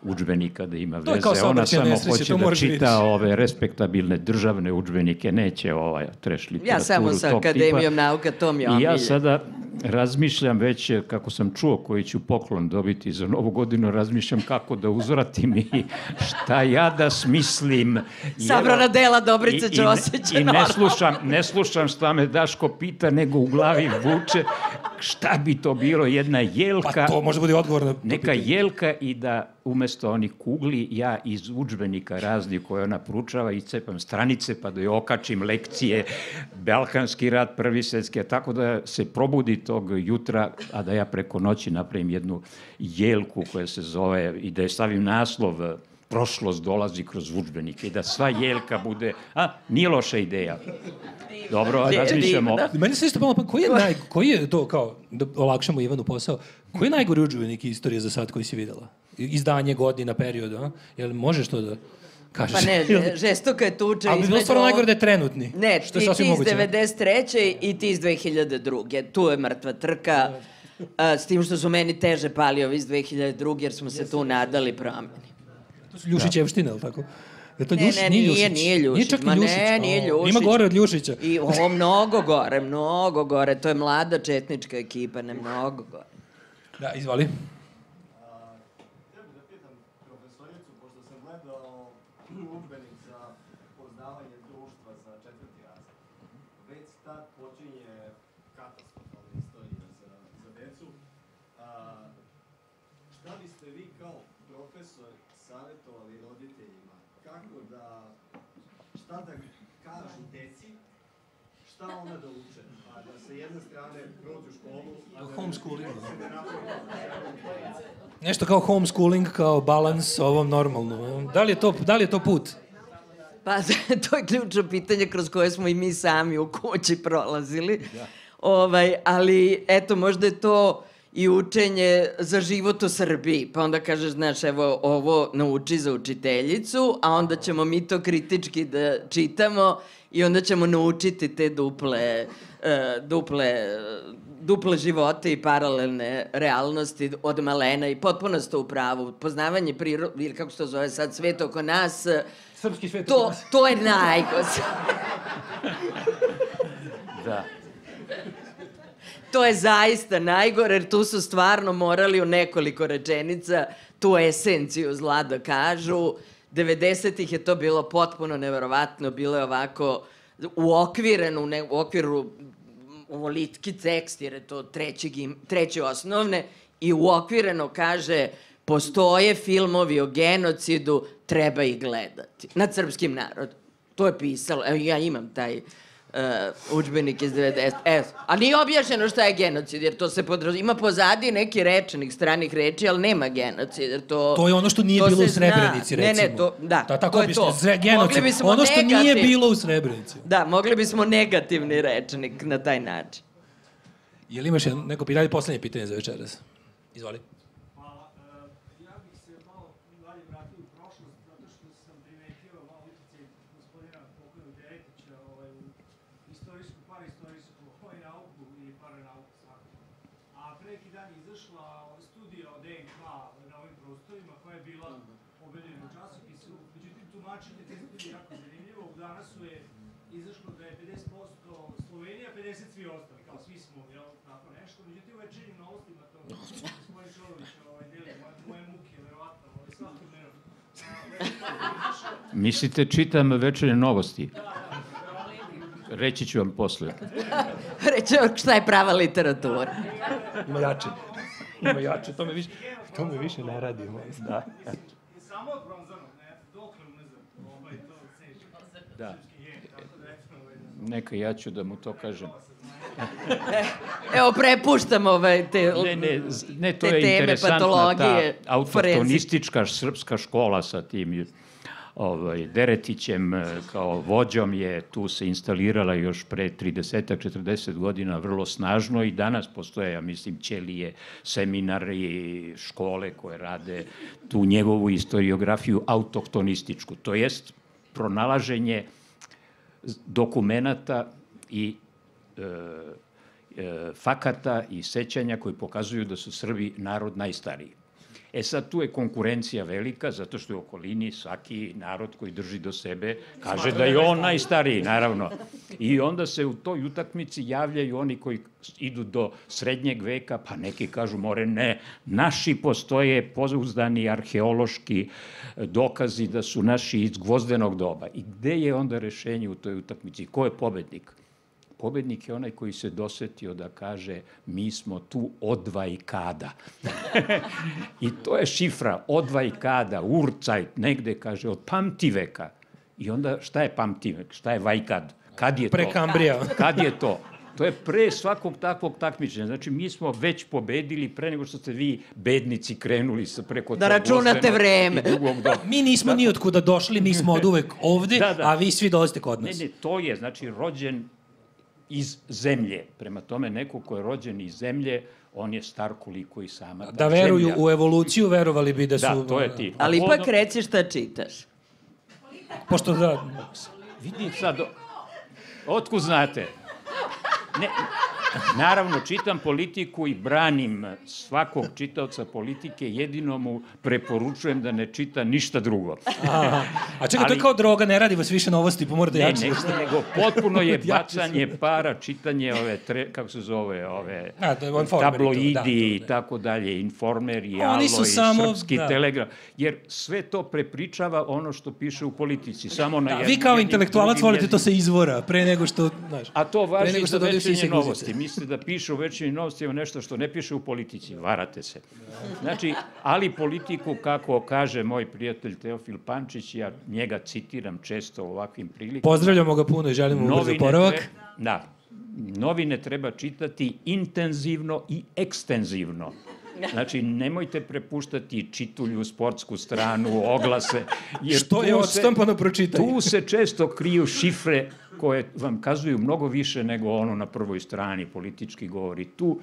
udžbenika da ima veze. Ona samo hoće da čita ove respektabilne državne udžbenike, neće treš literaturu ja samo sa Akademijom nauka, to mi je omilje. I ja sada razmišljam već, kako sam čuo koji ću poklon dobiti za Novu godinu, razmišljam kako da uzvratim i šta ja da smislim. Sabrana dela Dobrice Ćosića. I ne slušam šta me Daško pita, nego u glavi vuče šta bi to bilo, jedna jelka. Pa to može biti odgovor na... Neka jelka i da umesto onih kugli, ja iz udžbenika raznih koje ona proučava iscepam stranice pa da joj okačim lekcije, Balkanski rat, Prvi svjetski, tako da se probudi tog jutra, a da ja preko noći napravim jednu jelku koja se zove i da je stavim naslov Prošlost dolazi kroz udžbenike i da sva jelka bude... Nije loša ideja. Dobro, razmišljamo. Meni se isto pomalo, koji je to, kao, da olakšamo Ivanu posao, koji je najgori udžbenik istorije za sad koji si videla? Izdanje, godina, periodu, Jel možeš to da kažeš? Pa ne, žestoka je tuča. Ali bi bilo stvarno najgore da je trenutni. Ne, ti iz 93. i ti iz 2002. Tu je mrtva trka, s tim što su meni teže pali ovi iz 2002. jer smo se tu nadali promeni. To su Ljušićevštine, ali tako? Ne, nije Ljušić. Nije čak ni Ljušić. Nije Ljušić. Ima gore od Ljušića. I ovo mnogo gore. To je mlada četnička ekipa, ne mnogo gore. Da, izvoli. Htio bih da pitam profesoricu, pošto sam gledao udžbenik za poznavanje društva za 4. razred. Već tad počinje katastrofalna istorija za decu. Šta biste vi kao profesor savjetovali roditeljima kako da, šta da kažu deci, šta ona da uče, a da sa jedne strane prođu školu, a da Homeschooling. se ne napravi. Nešto kao homeschooling, kao balans ovom normalno. Da li je to put? Pa, to je ključno pitanje kroz koje smo i mi sami u kući prolazili. Ali, eto, možda je to i učenje za život u Srbiji. Pa onda kažeš, znaš, evo, ovo nauči za učiteljicu, a onda ćemo mi to kritički da čitamo i onda ćemo naučiti te duple živote i paralelne realnosti od malena i potpuno ste u pravu. Poznavanje prirode, ili kako se to zove sad, svet oko nas, Srpski svet oko nas. to je najgore. Da. To je zaista najgore, jer tu su stvarno morali u nekoliko rečenica tu esenciju zla da kažu. 90-ih je to bilo potpuno neverovatno, bilo je ovako uokvireno, u okviru ovo litki tekst, jer je to treći osnovne, i uokvireno kaže postoje filmovi o genocidu, treba ih gledati. Nad srpskim narodom. To je pisalo. Evo, ja imam taj udžbenik iz 90. A nije objašnjeno šta je genocid, jer to se ima pozadi neki rečenik stranih reči, ali nema genocid, jer to je ono što nije bilo u Srebrenici, recimo. Ne, Tako je to. Genocid. Ono što nije bilo u Srebrenici. Da, mogli bismo negativni rečnik na taj način. Je li imaš neko pitanje, poslednje pitanje za večeras? Izvoli. Hvala. Ja bih se malo dalje vratio u prošlost, zato što sam primetio malo utjecaj gospodina pokojnog Deretića u istorijsku, paraistorijsku nauku i paranauku svakako. A pre neki dan izašla studija o DNK na ovim prostorima koja je bila objavljena u časopisu. Međutim, tumačenje te studije jako zanimljivo. Danas su je izašlo da je 50% Slovenija, 50% svi ostali, kao svi smo, jel, tako nešto. Međutim, u večernjim novostima to gospodin Čolović deli moje muke, verovatno, svakodnevno. Mislite, čitam večernje novosti? Reći ću vam posle. Reći vam šta je prava literatura. Ima jače, to me više ne radi. Da. Samo od bronzanog, dokle unazad, to seže. Da. Neka, ja ću da mu to kažem. Evo, prepuštam te Ne, to je teme, interesantna patologije, ta autohtonistička srpska škola sa tim Deretićem kao vođom je tu se instalirala još pre 30-40 godina vrlo snažno i danas postoje, ja mislim, ćelije, seminari, škole koje rade tu njegovu istoriografiju autohtonističku, to jest pronalaženje dokumenata i fakata i sećanja koji pokazuju da su Srbi narod najstariji. Sad, tu je konkurencija velika, zato što je u okolini svaki narod koji drži do sebe kaže da je on najstariji, naravno. I onda se u toj utakmici javljaju oni koji idu do srednjeg veka, pa neki kažu, more ne, naši postoje pouzdani arheološki dokazi da su naši iz gvozdenog doba. I gde je onda rešenje u toj utakmici? Ko je pobednik? Pobednik je onaj koji se dosetio da kaže mi smo tu od vajkada. I to je šifra, od vajkada, urzajt, negde kaže od pamtiveka. I onda šta je pamtivek, šta je vajkad? Kad je to? Prekambrija. Kad je to? To je pre svakog takvog takmičenja. Znači, mi smo već pobedili pre nego što ste vi, bednici, krenuli preko da računate vreme. Mi nismo ni otkuda došli, mi smo od uvek ovde, a vi svi dolazite kod nas. Ne, to je, znači, rođen iz zemlje. Prema tome, neko ko je rođen iz zemlje, on je star koliko i sama ta zemlja. Da veruju u evoluciju, verovali bi da su... Da, to je ti. Ali ipak reci šta čitaš. Pošto da... Vidim sad, otkud znate? Ne, naravno, čitam politiku i branim svakog čitaoca politike, jedino mu preporučujem da ne čita ništa drugo. A čekaj, to je kao droga, ne radi vas više novosti, pa morate jače. Ne, nego potpuno je bacanje para, čitanje ove, kako se zove, ove tabloidi i tako dalje, Informer i Alo i Srpski Telegraf, jer sve to prepričava ono što piše u politici. Vi kao intelektualac volite to sa izvora, pre nego što... A to važi za večernje novosti. mislite da piše u Večernjim novostima nešto što ne piše u politici. Varate se. Znači, ali politiku, kako kaže moj prijatelj Teofil Pančić, ja njega citiram često u ovakvim prilikama. Pozdravljamo ga puno i želimo mu brzo oporavak. Novine treba čitati intenzivno i ekstenzivno. Znači, nemojte prepuštati čitulju, sportsku stranu, oglase. Jer što je odštampano, pročitaj. Tu se često kriju šifre koje vam kazuju mnogo više nego ono na prvoj strani, politički govori. Tu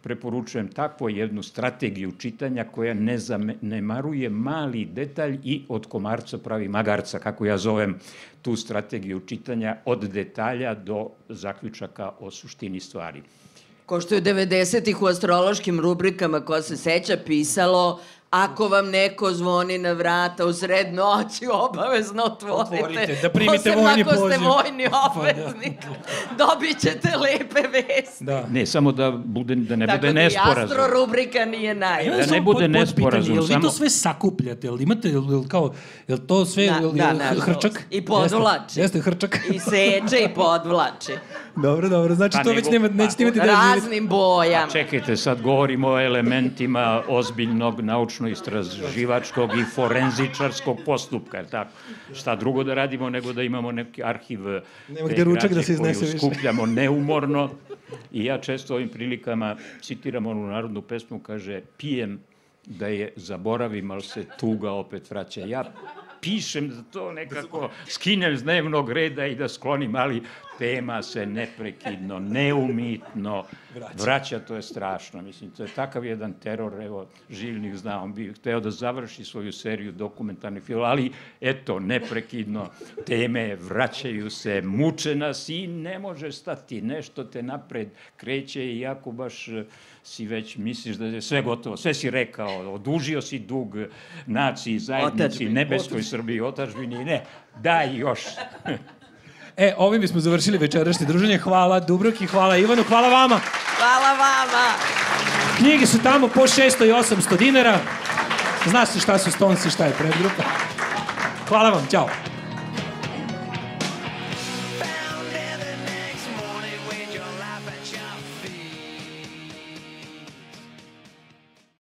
preporučujem takvu jednu strategiju čitanja koja ne zanemaruje mali detalj i od komarca pravi magarca, kako ja zovem tu strategiju čitanja, od detalja do zaključaka o suštini stvari. Ko što je 90-ih u astrološkim rubrikama, ko se seća, pisalo: ako vam neko zvoni na vrata u sred noći, obavezno otvorite. Da primite vojni poziv. Posebno ako ste vojni obveznik, dobit ćete lepe vesti. Ne, samo da ne bude nesporazum. Tako da i astro rubrika nije najbolja. Da ne bude nesporazum. Jel vi to sve sakupljate? Jel imate, jel to sve hrčak? I podvlači. Jeste hrčak. I seče i podvlači. Dobro. Znači to već nećete imati da živite. Raznim bojama. Čekajte, sad govorimo o elementima ozbiljnog naučno-istraživačkog i forenzičarskog postupka, jer tako? Šta drugo da radimo nego da imamo neki arhiv te građe koju skupljamo neumorno. I ja često ovim prilikama citiram onu narodnu pesmu, kaže: pijem da je zaboravim, ali se tuga opet vraća. Ja pišem da to nekako skinem z dnevnog reda i da sklonim, ali tema se neprekidno, neumitno vraća, to je strašno. Mislim, to je takav jedan teror, evo, Živnik zna, on bi hteo da završi svoju seriju dokumentarnih filmova, ali eto, neprekidno teme vraćaju se, muče nas i ne može stati, nešto te napred kreće, iako baš si već misliš da je sve gotovo, sve si rekao, odužio si dug naciji, zajednici, nebeskoj Srbiji, otadžbini, ne, daj još. Ovim bismo završili večerašnje druženje. Hvala Dubravki, hvala Ivanu, hvala vama. Hvala vama. Knjige su tamo po 600 i 800 dinara. Zna se šta su Stonesi, šta je predgrupa. Hvala vam, ćao.